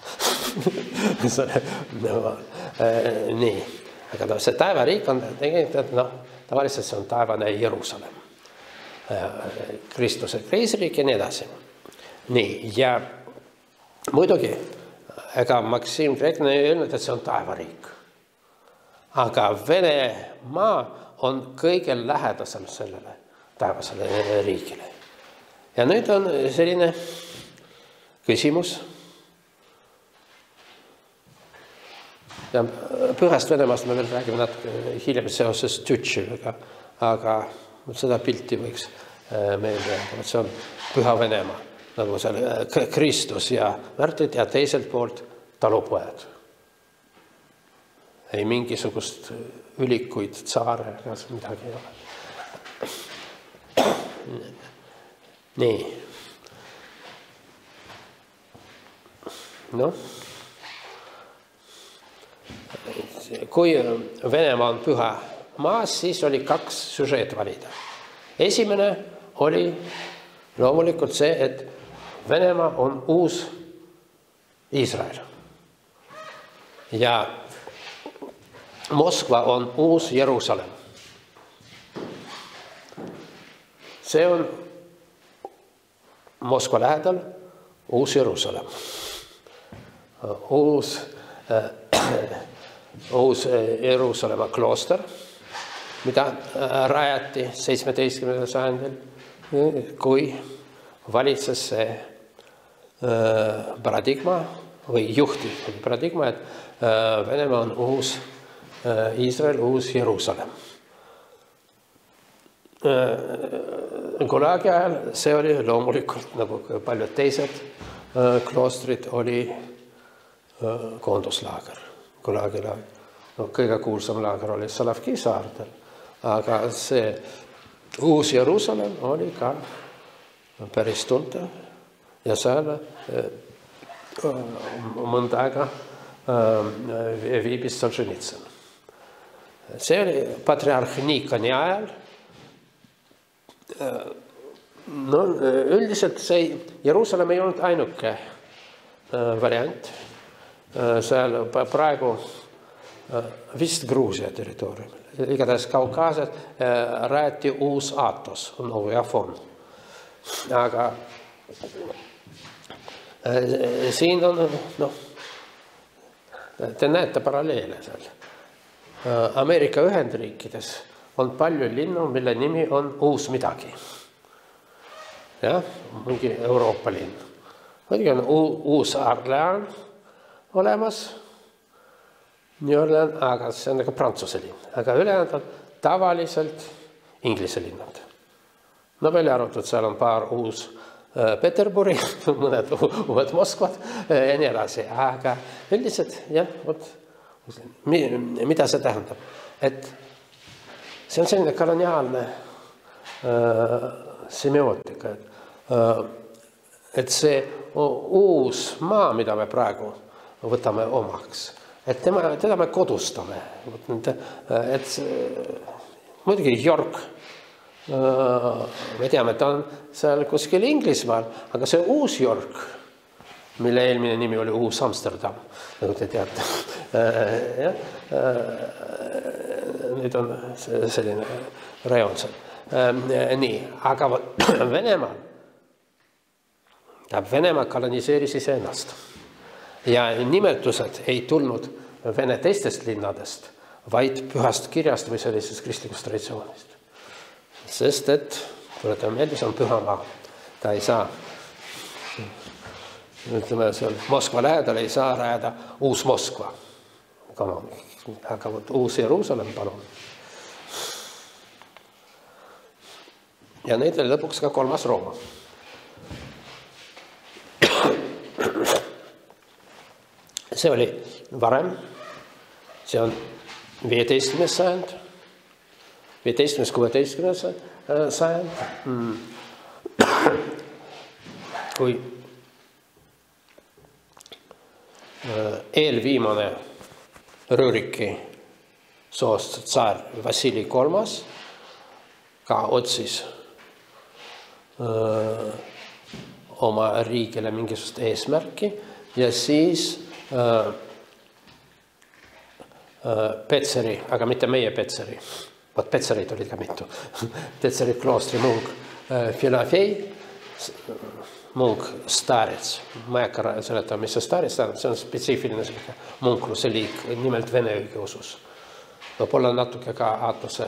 Nii, aga see taevariik on tegelikult, tavaliselt see on taevane Jeruusalemm. Kristuse kreisriik ja nii edasi. Nii, ja muidugi, ega Maksim Kreeklane ei öelnud, et see on taevariik. Aga Venemaa on kõige lähedasem sellele taevasele riigile. Ja nüüd on selline küsimus. Ja Pühast Venemaast me veel räägime natuke hiljem seoses Tütšiga, aga seda pilti võiks meelde öelda, et see on Püha Venemaa, nagu seal Kristus ja märtrid ja teiselt poolt talupojad. Ei mingisugust ülikuid, tsaare, midagi ei ole. Nii. kui Venemaa on püha maas, siis oli 2 süžeed valida. Esimene oli loomulikult see, et Venemaa on uus Iisrael. Ja Moskva on uus Jeruusalemm. See on Moskva lähedal uus Jeruusalemm. Uus Jeruusalemma klooster, mida rajati 17. sajandil, kui valitses see paradigma või juhtiv paradigma, et Venemaa on uus Iisrael, uus Jeruusalemm. Gulagi ajal see oli loomulikult, nagu paljud teised kloostrid, oli koonduslaager. Gulagi laager. No, kõige kuulsam laager oli Solovki saartel, aga see uus Jeruusalemm oli ka päris tuntav ja seal mõnda aega viibis Solženitsõn. See oli patriarh Nikoni ajal. No, üldiselt see Jeruusalemm ei olnud ainuke variant. Seal praegu vist Gruusia territooriumil. Igatahes Kaukaasias rajati uus Aatos, Novi Afon. Aga siin on, te näete paralleele seal. Ameerika Ühendriikides on palju linnu, mille nimi on uus midagi. Jah, mingi Euroopa linn. Muidugi on uus Orlean olemas, New Orleans, aga see on nagu Prantsuse linn. Aga ülejäänud on tavaliselt Inglise linnad. No välja arvatud, seal on paar uus Peterburi, mõned uued Moskvad ja nii edasi. Aga üldiselt, jah, mida see tähendab? Et see on selline koloniaalne semiootika. Et see uus maa, mida me praegu võtame omaks, et teda me kodustame. Et muidugi York, me teame, et ta on seal kuskil Inglismaal, aga see uus York, mille eelmine nimi oli uus Amsterdam, nagu te teate. Nüüd on selline rajoon seal. Nii, aga Venemaa koloniseeris iseennast. Ja nimetused ei tulnud Vene teistest linnadest, vaid pühast kirjast või sellisest kristlikust traditsioonist. Sest et, tuletame meelde, see on püha maa. Ta ei saa, ütleme, seal Moskva lähedal ei saa rajada uus Moskva. Aga uus Jeruusalemm, palun. Ja neid oli lõpuks ka 3. Rooma. See oli varem, see on 15. sajand, 15-16. sajand, kui eelviimane Rõõriki soost tsaar Vassili III ka otsis oma riigile mingisugust eesmärki ja siis Petseri, aga mitte meie Petseri, vaat Petsereid olid ka mitu, Petseri kloostri munk Filofei, munk Starets, ma ei hakka seletama, mis see Starets tähendab, see on spetsiifiline munkluse liik, nimelt vene õigeusus. Võib-olla natuke ka Aatose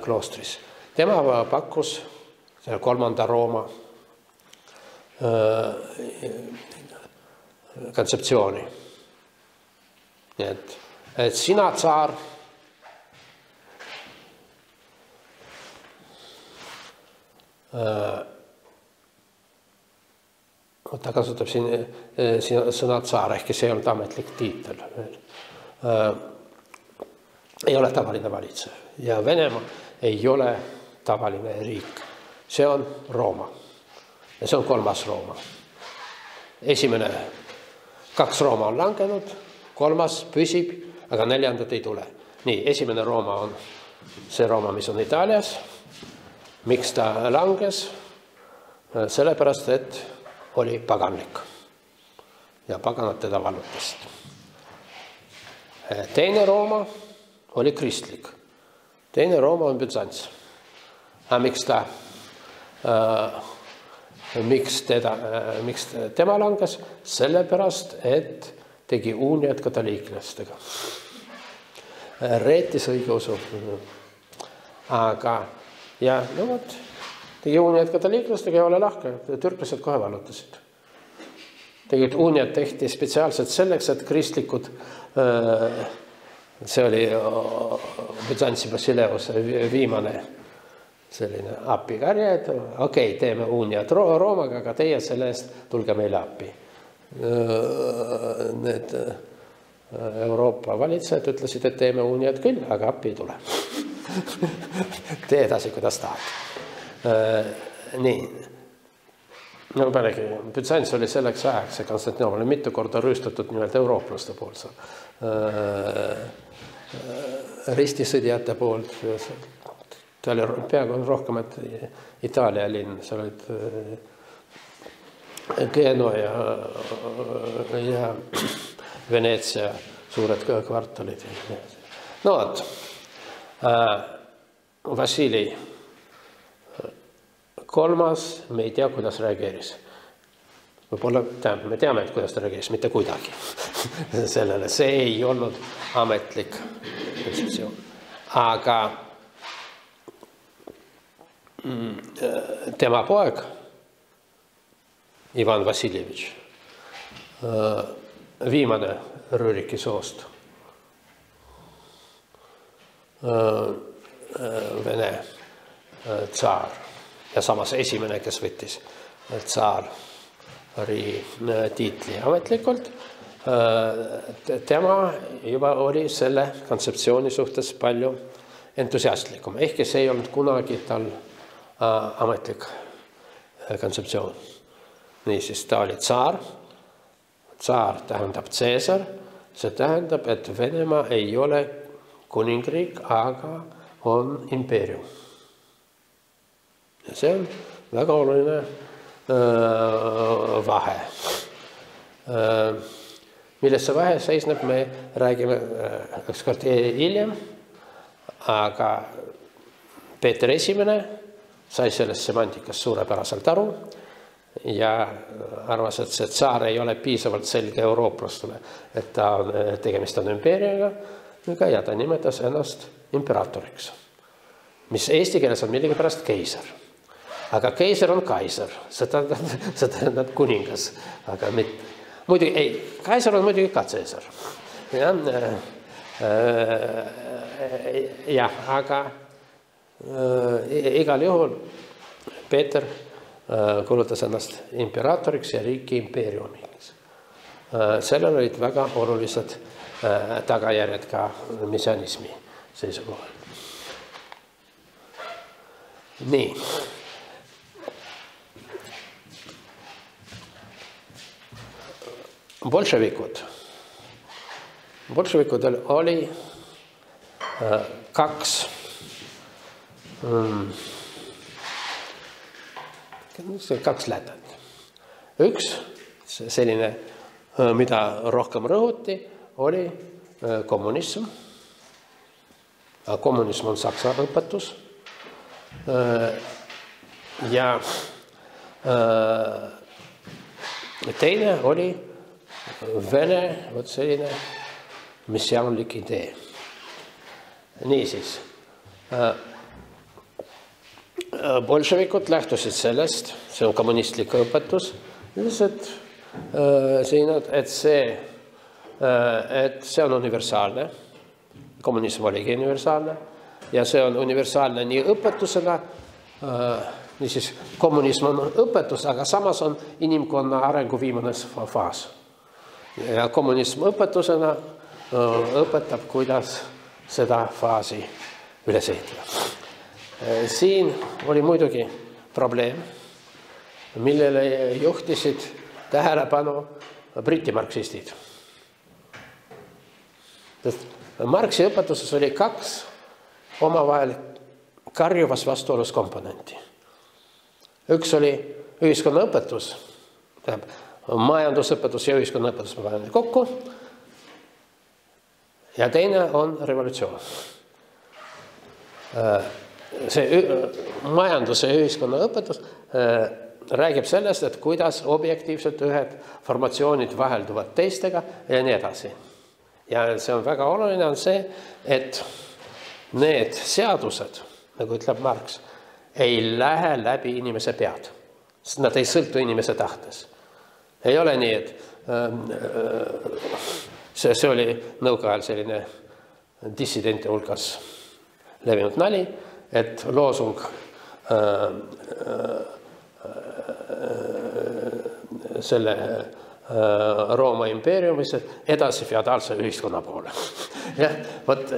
kloostris. Tema pakkus 3. Rooma kontseptsiooni. Et sina, tsaar, ta kasutab siin sõna tsaar, ehkki see ei olnud ametlik tiitel. Ei ole tavaline valitsev ja Venemaa ei ole tavaline riik. See on Rooma ja see on 3. Rooma. Esimene 2 Rooma on langenud, 3. püsib aga 4. ei tule. Nii, esimene Rooma on see Rooma, mis on Itaalias. Miks ta langes? Sellepärast, et oli paganlik ja paganad teda vallutasid. Teine Rooma oli kristlik. Teine Rooma on Bütsants. Aga miks tema langes? Sellepärast, et tegi uuniad katoliiklastega. Reetis õigeusu. Aga ja no vot, tegi uuniad katoliiklastega ja ole lahke. Türklased kohe vallutasid. Tegelikult uuniad tehti spetsiaalselt selleks, et kristlikud, see oli Bütsantsi Basileuse viimane selline appikarje, et okei, teeme uuniad Roomaga, aga teie selle eest tulge meile appi. Need Euroopa valitsejad ütlesid, et teeme uuniad küll, aga appi ei tule. Tee edasi, kuidas tahad. Nii. No pealegi, Bütsants oli selleks ajaks, see Konstantinoopol oli mitu korda rüüstatud nimelt eurooplaste poolt. Ristisõdijate poolt. Ta oli peaaegu rohkem, et Itaalia linn, seal olid Genoa ja Veneetsia suured kvartalid. No vot, Vassili kolmas, me ei tea, kuidas reageeris. Võib-olla me teame, et kuidas ta reageeris, mitte kuidagi. Sellele see ei olnud ametlik positsioon. Aga tema poeg, Ivan Vassiljevitš, viimane Rüriki soost, Vene tsaar ja samas esimene, kes võttis tsaari tiitli ametlikult, tema juba oli selle kontseptsiooni suhtes palju entusiastlikum, ehkki see ei olnud kunagi tal ametlik kontseptsioon. Niisiis, ta oli tsaar. Tsaar tähendab Caesar. See tähendab, et Venemaa ei ole kuningriik, aga on impeerium. Ja see on väga oluline vahe. Milles see vahe seisneb, me räägime ükskord hiljem, aga Peeter Esimene sai sellest semantikast suurepäraselt aru ja arvas, et see tsaar ei ole piisavalt selge eurooplastele, et tegemist on impeeriumiga ja ta nimetas ennast imperaatoriks, mis eesti keeles on millegipärast keiser. Aga keiser on kaiser, see tähendab kuningas, aga mitte. Muidugi, ei, kaiser on muidugi ka Caesar. Jah, aga igal juhul Peeter kuulutas ennast imperaatoriks ja riiki impeeriumiks. Sellel olid väga olulised tagajärjed ka messianismi seisukohal. Nii. Bolševikudel oli kaks lätet. Üks selline, mida rohkem rõhuti, oli kommunism. Kommunism on saksa õpetus. Ja teine oli Vene, vot selline messiaanlik idee. Niisiis, bolševikud lähtusid sellest, see on kommunistlik õpetus, et see on universaalne, kommunism oligi universaalne ja see on universaalne nii õpetusena, niisiis kommunism on õpetus, aga samas on inimkonna arengu viimane faas. Ja kommunism õpetusena õpetab, kuidas seda faasi üles ehitada. Siin oli muidugi probleem, millele juhtisid tähelepanu briti marksistid. Marxi õpetuses oli 2 omavahel karjuvas vastuolus komponenti. Üks oli ühiskonnaõpetus, majandusõpetus ja ühiskonnaõpetus me paneme kokku, ja teine on revolutsioon. See majanduse ja ühiskonnaõpetus räägib sellest, et kuidas objektiivselt ühed formatsioonid vahelduvad teistega ja nii edasi. Ja see on väga oluline on see, et need seadused, nagu ütleb Marx, ei lähe läbi inimese pead. Nad ei sõltu inimese tahtes. Ei ole nii, et see oli nõukaajal selline dissidente hulgas levinud nali, et loosung selle Rooma impeeriumis edasi feodaalse ühiskonna poole. Ja, võt,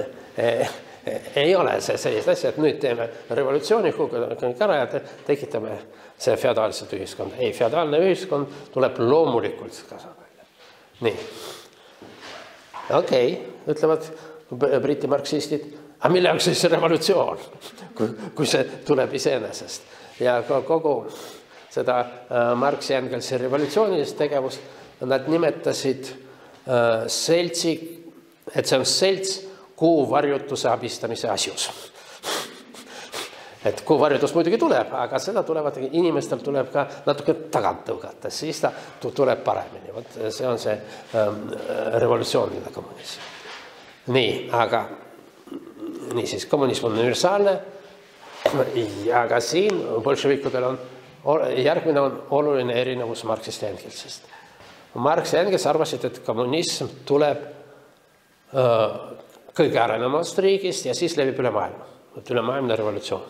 ei ole see sellist asja, et nüüd teeme revolutsiooni ära ja tekitame see feodaalset ühiskonda. Ei, feodaalne ühiskond tuleb loomulikult kasvada. Nii. Okei, ütlevad briti marksistid, aga mille jaoks siis revolutsioon, kui see tuleb iseenesest. Ja kogu seda Marxi Engelsi revolutsioonilist tegevust nad nimetasid seltsi, et see on selts kuuvarjutuse abistamise asjus. Et kuuvarjutus muidugi tuleb, aga seda tulevad, inimestel tuleb ka natuke tagant tõugata, siis ta tuleb paremini. Võt, see on see revolutsiooniline kommunism. Nii, aga niisiis, kommunism on universaalne, aga siin bolševikudel on järgmine on oluline erinevus Marxist ja Engelsist. Marx ja Engels arvasid, et kommunism tuleb kõige arenevamast riigist ja siis levib üle maailma. Ülemaailmne revolutsioon.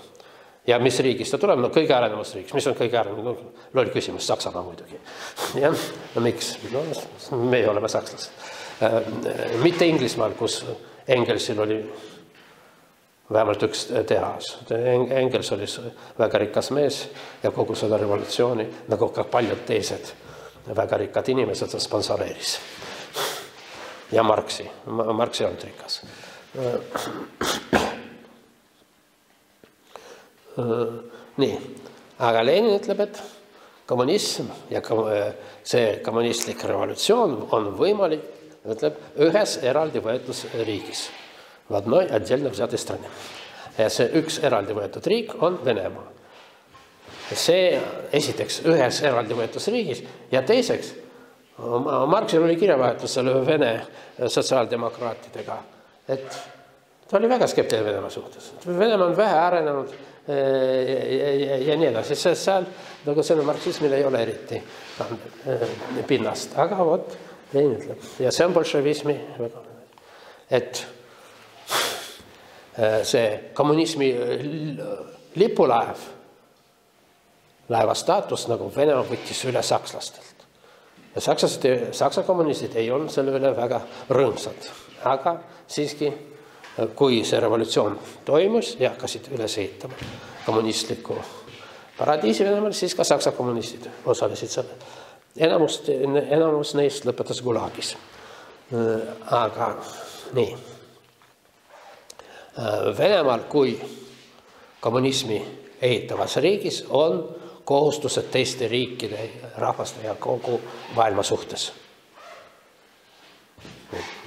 Ja mis riigist ta tuleb? No kõige arenevamast riigist. Mis on kõige arenevam? Loll küsimus, Saksamaa muidugi. Ja, no miks? No, me oleme sakslased. Mitte Inglismaal, kus Engelsil oli vähemalt üks tehas. Engels oli väga rikas mees ja kogu seda revolutsiooni, nagu ka paljud teised väga rikkad inimesed sponsoreeris. Ja Marxi on rikas. Nii, aga Lenin ütleb, et kommunism ja see kommunistlik revolutsioon on võimalik, ütleb, ühes eraldi võetus riigis. В одной отдельно взятой стране. Ja see üks eraldi võetud riik on Venemaa. See esiteks ühes eraldi võetus riigis ja teiseks Marxil oli kirjavahetus selle Vene sotsiaaldemokraatidega, et ta oli väga skeptiline Venemaa suhtes. Venemaa on vähe arenenud ja nii edasi. Seal nagu selle marksismil ei ole eriti pinnast. Aga vot, Lenin ütleb. Ja see on bolševismi väga. Et see kommunismi lipulaev, laeva staatus nagu Venemaa võttis üle sakslastelt. Ja saksa kommunistid ei olnud selle üle väga rõõmsad. Aga siiski, kui see revolutsioon toimus ja hakkasid üles ehitama kommunistliku paradiisi Venemaal, siis ka saksa kommunistid osalesid selle. Enamus neist lõpetas Gulagis. Aga nii. Venemaal kui kommunismi ehitavas riigis on kohustused teiste riikide, rahvaste ja kogu maailma suhtes.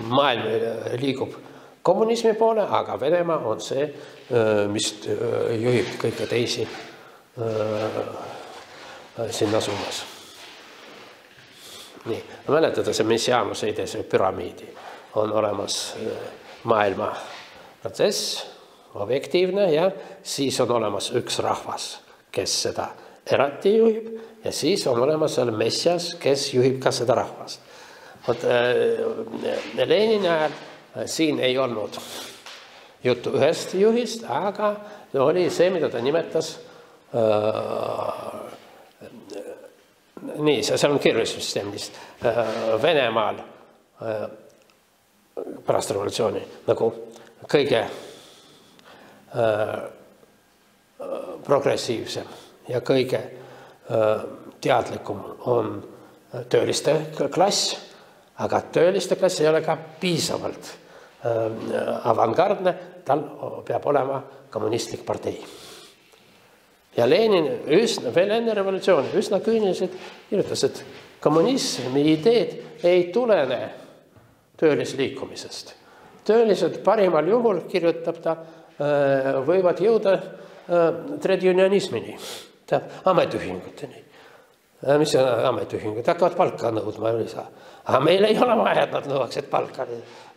Maailm liigub kommunismi poole, aga Venemaa on see, mis juhib kõike teisi sinna suunas. Nii, mäletada see messiaanuse idee, see püramiidi on olemas maailma protsess, objektiivne ja siis on olemas üks rahvas, kes seda eraldi juhib ja siis on olemas seal messias, kes juhib ka seda rahvast. Lenini ajal siin ei olnud juttu ühest juhist, aga oli see, mida ta nimetas nii, see on kirjussüsteemist Venemaal pärast revolutsiooni nagu kõige progressiivsem ja kõige teadlikum on tööliste klass, aga tööliste klass ei ole ka piisavalt avangardne, tal peab olema kommunistlik partei. Ja Lenin veel enne revolutsiooni üsna küüniliselt kirjutas, et kommunismi ideed ei tulene töölisliikumisest. Töölised parimal juhul, kirjutab ta, võivad jõuda trade-unionismini, ametiühinguteni. Mis on ametiühingud? Hakkavad palka nõudma lisa. Aga meil ei ole vaja, et nad nõuaksid palka.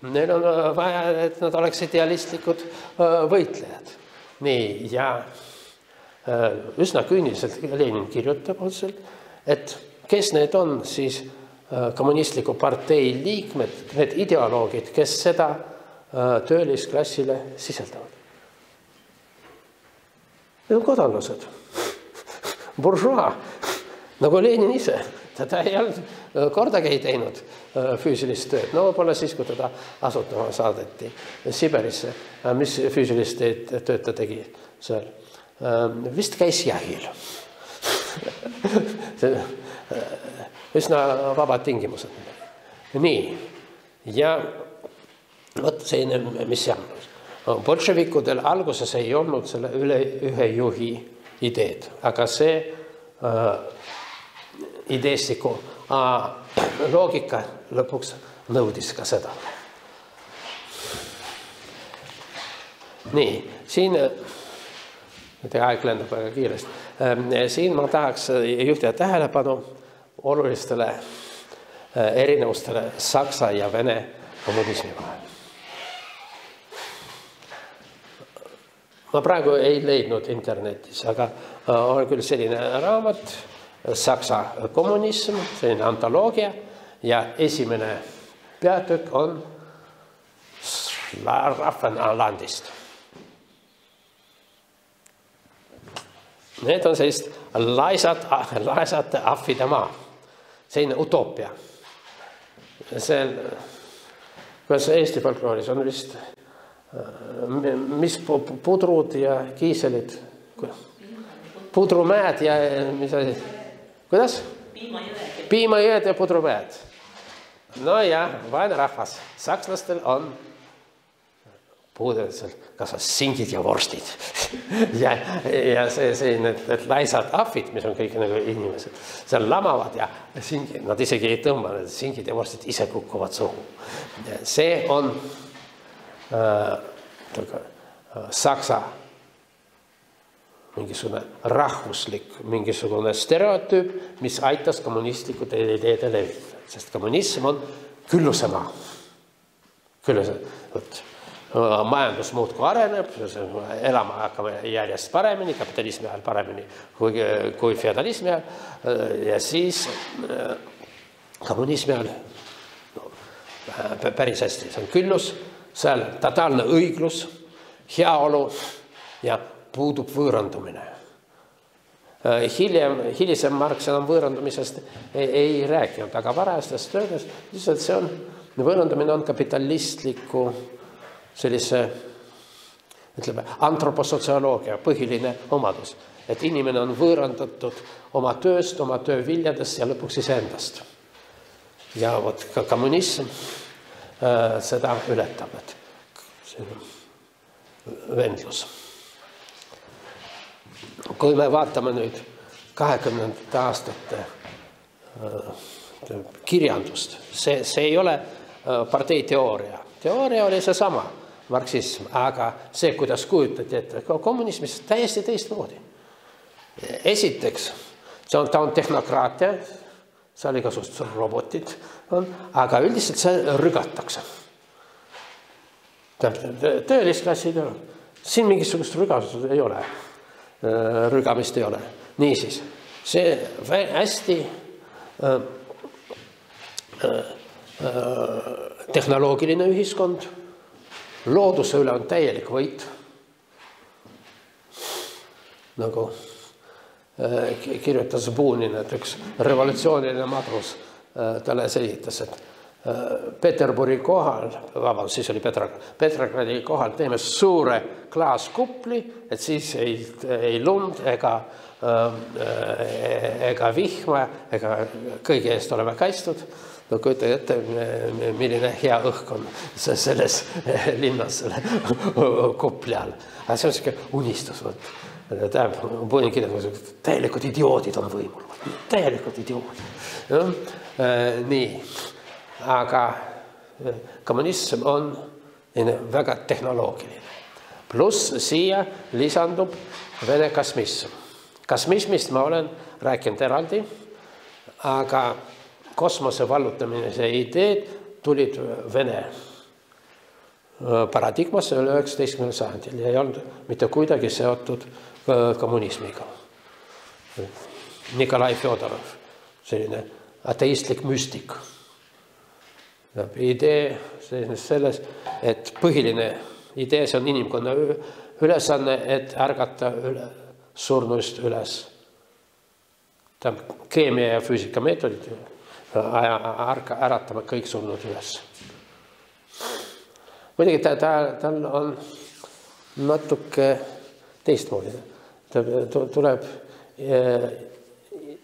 Neil on vaja, et nad oleks idealistlikud võitlejad. Nii, ja üsna küüniliselt Lenin kirjutab otseselt, et kes need on siis kommunistliku partei liikmed, need ideoloogid, kes seda töölisklassile siseldavad. Need on kodanlased. Buržua, nagu Lenin ise, teda ei olnud kordagi ei teinud füüsilist tööd. No pole siis, kui teda asutama saadeti Siberisse. Mis füüsilist tööd ta tegi seal? Vist käis jahil. Üsna vabad tingimused. Nii, ja võt selline, mis jäänud. Bolševikudel alguses ei olnud selle ühe juhi ideed, aga see ideestiku loogika lõpuks nõudis ka seda. Nii, siin aeg lendab väga kiiresti. Siin ma tahaks juhtida tähelepanu olulistele erinevustele Saksa ja Vene kommunismi vahel. Ma praegu ei leidnud internetis, aga on küll selline raamat Saksa kommunism, selline antoloogia ja esimene peatükk on Rahvenlandist. Need on sellist laisate ahvide maa. Selline utoopia. Kuidas Eesti folklooris on vist mis pudrud ja kiiselid? Pudrumäed ja mis oli? Kuidas? Piimajõed ja pudrumäed. No ja, vaene rahvas. Sakslastel on puudel kas singid ja vorstid. ja see need laisad ahvid, mis on kõik nagu inimesed, seal lamavad ja singid, nad isegi ei tõmba, need singid ja vorstid ise kukuvad suhu. See on Saksa mingisugune rahvuslik, mingisugune stereotüüp, mis aitas kommunistlikud ideede levitada, sest kommunism on küllusemaa. Majandus muudkui areneb, elama hakkame järjest paremini, kapitalismi ajal paremini kui feodalismi ajal ja siis kommunismi ajal päris hästi, see on küllus, seal totaalne õiglus, heaolu ja puudub võõrandumine. Hilisem Marx enam võõrandumisest ei rääkinud, aga varajastest töödes lihtsalt see on, võõrandumine on kapitalistliku sellise, ütleme, antroposotsioloogia põhiline omadus, et inimene on võõrandatud oma tööst, oma töö viljadest ja lõpuks iseendast. Ja vot ka kommunism seda ületab, et see on vendlus. Kui me vaatame nüüd 20. aastate kirjandust, see ei ole partei teooria. Teooria oli see sama, marksism, aga see, kuidas kujutati, et kommunismis täiesti teistmoodi. Esiteks, ta on tehnokraatia, seal igasugused robotid on, aga üldiselt see rügatakse. Töölisklassid on. Siin mingisugust rügasust ei ole. Rügamist ei ole. Niisiis, see hästi tehnoloogiline ühiskond, looduse üle on täielik võit. Nagu kirjutas Bunin, et üks revolutsiooniline madrus talle selitas, et Peterburi kohal, vabandust, siis oli Petrogradi kohal teeme suure klaaskupli, et siis ei lund ega vihma, ega kõige eest oleme kaitstud. No kujutage ette, milline hea õhk on selles linnas selle kupli all. Aga see on selline unistus. Täielikud idioodid on võimul. Täielikud idioodid. Nii. Aga kommunism on väga tehnoloogiline. Pluss siia lisandub Vene kosmism. Kosmismist ma olen rääkinud eraldi, aga kosmose vallutamise ideed tulid Vene paradigmasse 19. sajandil ja ei olnud mitte kuidagi seotud kommunismiga. Nikolai Fjodorov, selline ateistlik müstik. Idee selles, et põhiline idee, see on inimkonna ülesanne, et ärgata surnuist üles. Ta keemia ja füüsika meetodid äratame kõik surnud üles. Muidugi tal on natuke teistmoodi. Tuleb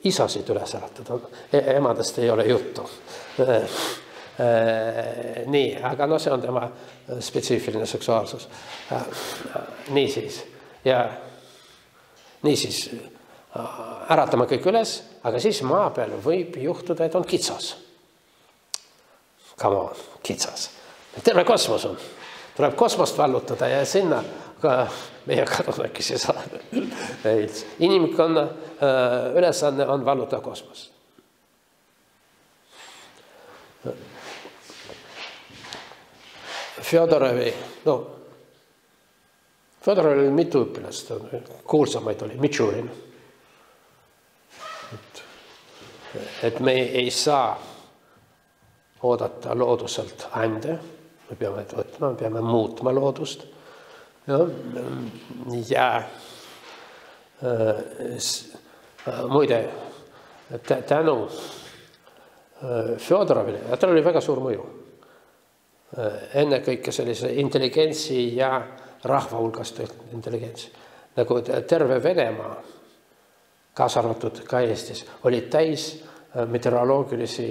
isasid üles äratada. Emadest ei ole juttu. Nii, aga no see on tema spetsiifiline seksuaalsus. Niisiis äratame kõik üles, aga siis maa peal võib juhtuda, et on kitsas. Come on, kitsas. Terve kosmos on. Tuleb kosmost vallutada ja sinna ka meie kadunakesi saada. Inimkonna ülesanne on vallutada kosmos. Fjodorovil oli mitu õpilast, kuulsamaid oli Mitšurin. Et me ei saa oodata looduselt ande, me peame võtma, me peame muutma loodust. Ja muide, tänu Fjodorovile, tal oli väga suur mõju. Enne kõike sellise intelligentsi ja rahva hulgast intelligentsi. Nagu terve Venemaa, kaasa arvatud ka Eestis, oli täis meteoroloogilisi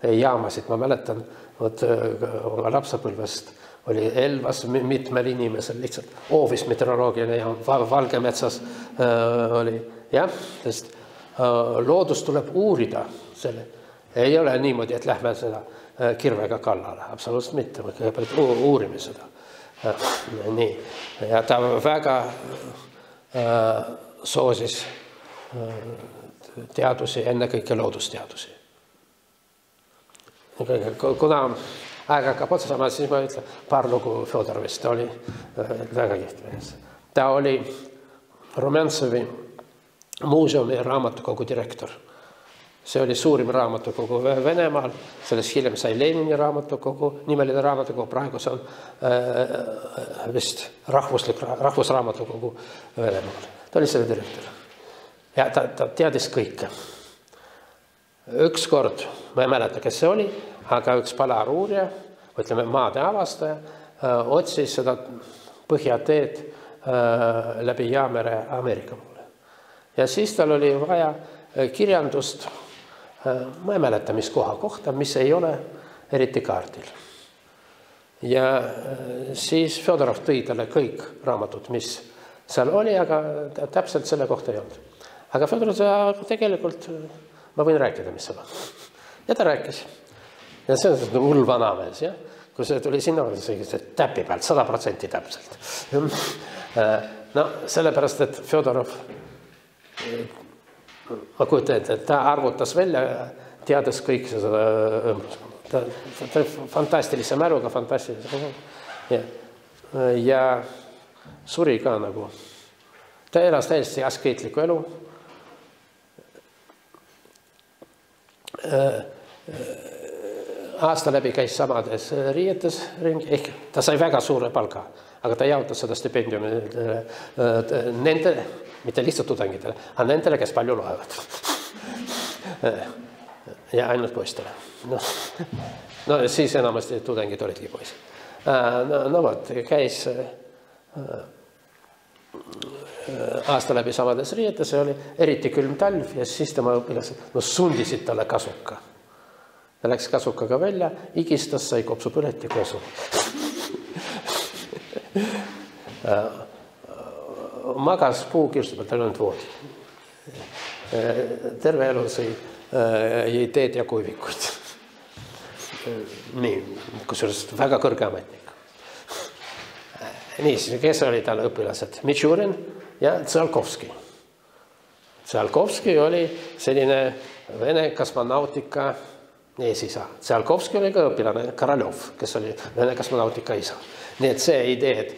jaamasid. Ma mäletan, oma lapsepõlvest oli Elvas mitmel inimesel lihtsalt hoovis meteoroloogiline jaam, Valgemetsas oli. Jah, sest loodus tuleb uurida selle. Ei ole niimoodi, et lähme seda kirvega kallale. Absoluutselt mitte, me kõigepealt uurime seda. Nii. Ja ta väga soosis teadusi, ennekõike loodusteadusi. Kuna aeg hakkab otsa saama, siis ma ütlen paar lugu Fjodorovist. Ta oli väga kihvt mees. Ta oli Rumjantsevi muuseumi raamatukogu direktor. See oli suurim raamatukogu Venemaal, sellest hiljem sai Lenini raamatukogu, nimeline raamatukogu, praegu see on vist rahvusraamatukogu Venemaal. Ta oli selle direktor. Ja ta teadis kõike. Üks kord, ma ei mäleta, kes see oli, aga üks palaruurija, ütleme maade avastaja, otsis seda põhjateed läbi Jaamere Ameerika poole. Ja siis tal oli vaja kirjandust, ma ei mäleta, mis koha kohta, mis ei ole eriti kaardil. Ja siis Fjodorov tõi talle kõik raamatud, mis seal oli, aga täpselt selle kohta ei olnud. Aga Fjodorov tegelikult, ma võin rääkida, mis seal on. Ja ta rääkis. Ja see on hull vanamees, jah? Kui see tuli sinna, see täpi pealt, 100% täpselt. No, sellepärast, et Fjodorov ma kujutan, et ta arvutas välja, teades kõik seda fantastilise mäluga, fantastilise. Ja suri ka nagu. Ta elas täiesti askeetliku elu. Aasta läbi käis samades riietes ringi, ehk ta sai väga suure palga, aga ta jaotas seda stipendiumi nendele, mitte lihtsalt tudengitele, aga nendele, kes palju loevad. Ja ainult poistele. No siis enamasti tudengid olidki poisid. No vot, käis aasta läbi samades riietes, see oli eriti külm talv ja siis tema õpilased sundisid talle kasuka. Ta läks kasukaga välja, igistas, sai kopsu põleti kosu. Magas puukirstu pealt, tal ei olnud voodi. Terve elu jõi teed ja kuivikuid. Nii, kusjuures väga kõrge ametnik. Nii, kes oli tal õpilased? Mitšurin ja Tsiolkovski. Tsiolkovski oli selline Vene kosmonautika eesisa. Tsiolkovski oli ka õpilane Koroljov, kes oli Vene kosmonautika isa. Nii et see idee, et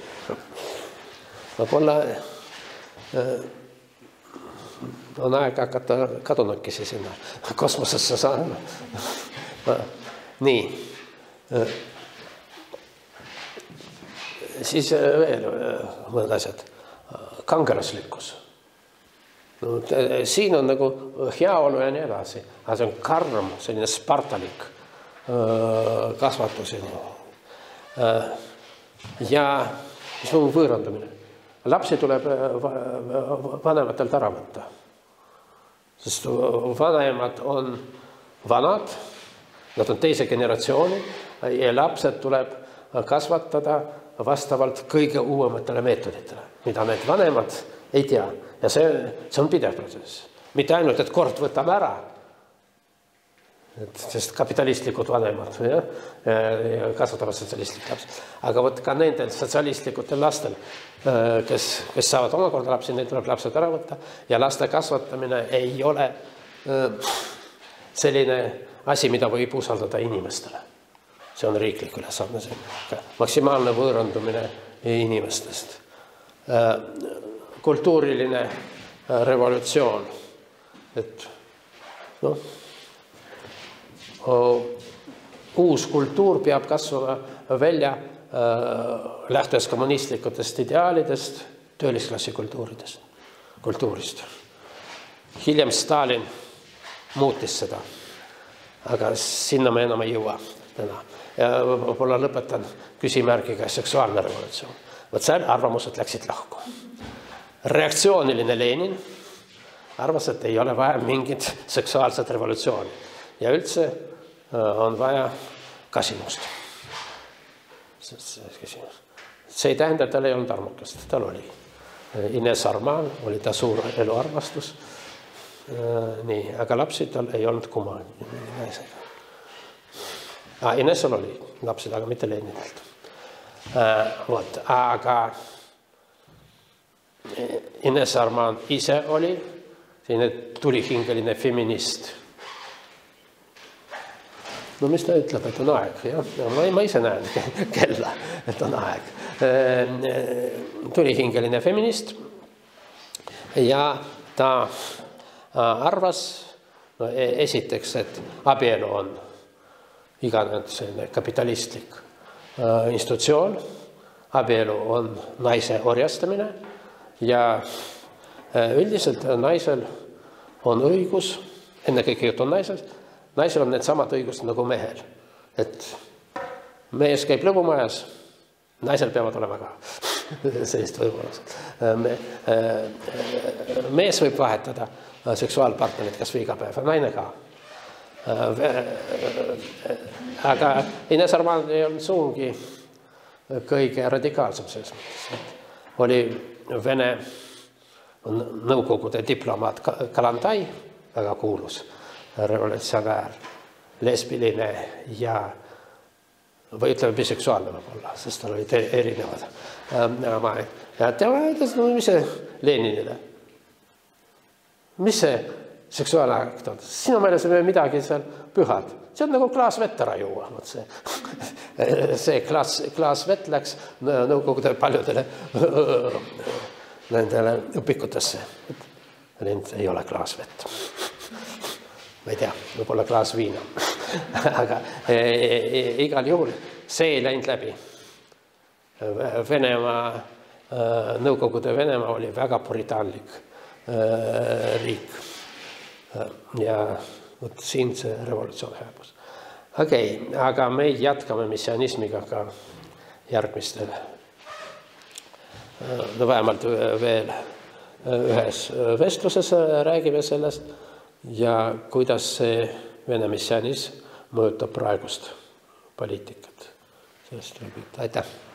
võib-olla on aeg hakata kadunukesi sinna kosmosesse saama. Nii. Siis veel mõned asjad. Kangelaslikkus. No, siin on nagu heaolu ja nii edasi. Aga see on karm, selline spartalik kasvatus. Ja mis on võõrandumine. Lapsi tuleb vanematelt ära võtta. Sest vanemad on vanad, nad on teise generatsiooni ja lapsed tuleb kasvatada vastavalt kõige uuematele meetoditele, mida need vanemad ei tea. Ja see on pidev protsess. Mitte ainult, et kord võtame ära, sest kapitalistlikud vanemad ja kasvatavad sotsialistlikud lapsed. Aga võt ka nendel sotsialistlikutel lastel, kes saavad omakorda lapsi, neid tuleb lapsed ära võtta ja laste kasvatamine ei ole selline asi, mida võib usaldada inimestele. See on riiklik ülesanne, maksimaalne võõrandumine inimestest. Kultuuriline revolutsioon. Et uus kultuur peab kasvama välja lähtudes kommunistlikutest ideaalidest, töölisklassi kultuurist. Hiljem Stalin muutis seda, aga sinna me enam ei jõua täna. Ja võib-olla lõpetan küsimärgiga seksuaalne revolutsioon. Võt seal arvamused läksid lahku. Reaktsiooniline Lenin arvas, et ei ole vaja mingit seksuaalset revolutsiooni. Ja üldse on vaja kasinust. See ei tähenda, et tal ei olnud armukast. Tal oli. Ines Arman oli ta suur eluarmastus. Nii, aga lapsi tal ei olnud kuma. Inesel oli lapsed, aga mitte Leninilt. Aga Ines Arman ise oli selline tulihingeline feminist. No mis ta ütleb, et on aeg? Ma ise näen kella, et on aeg. Tulihingeline feminist ja ta arvas esiteks, et abielu on iganenud selline kapitalistlik institutsioon, abielu on naise orjastamine ja üldiselt naisel on õigus, ennekõike jutt on naisel on need samad õigused nagu mehel. Et mees käib lõbumajas, naisel peavad olema ka sellist võimalused. Mees võib vahetada seksuaalpartnerit kas või iga päev, naine ka. Aga Ines Arman ei olnud suungi kõige radikaalsem selles mõttes. Oli Vene nõukogude diplomaat Kalantai, väga kuulus revolutsionäär, lesbiline ja või ütleme biseksuaalne võib-olla, sest tal olid erinevad. Ja tema ütles, mis see Leninile? Mis see seksuaalakt on? Sinu meeles ei midagi seal pühad. See on nagu klaas vett ära juua. See klaas vett läks nõukogude paljudele nendele õpikutesse. Need ei ole klaas vett. Ma ei tea, võib-olla klaas viina. Aga igal juhul see ei läinud läbi. Nõukogude Venemaa oli väga puritaanlik riik. Ja siin see revolutsioon hääbus. Okei, aga me jätkame missionismiga ka järgmistel. No vähemalt veel ühes vestluses räägime sellest ja kuidas see Vene missionism mõjutab praegust poliitikat. Sellest räägib. Aitäh!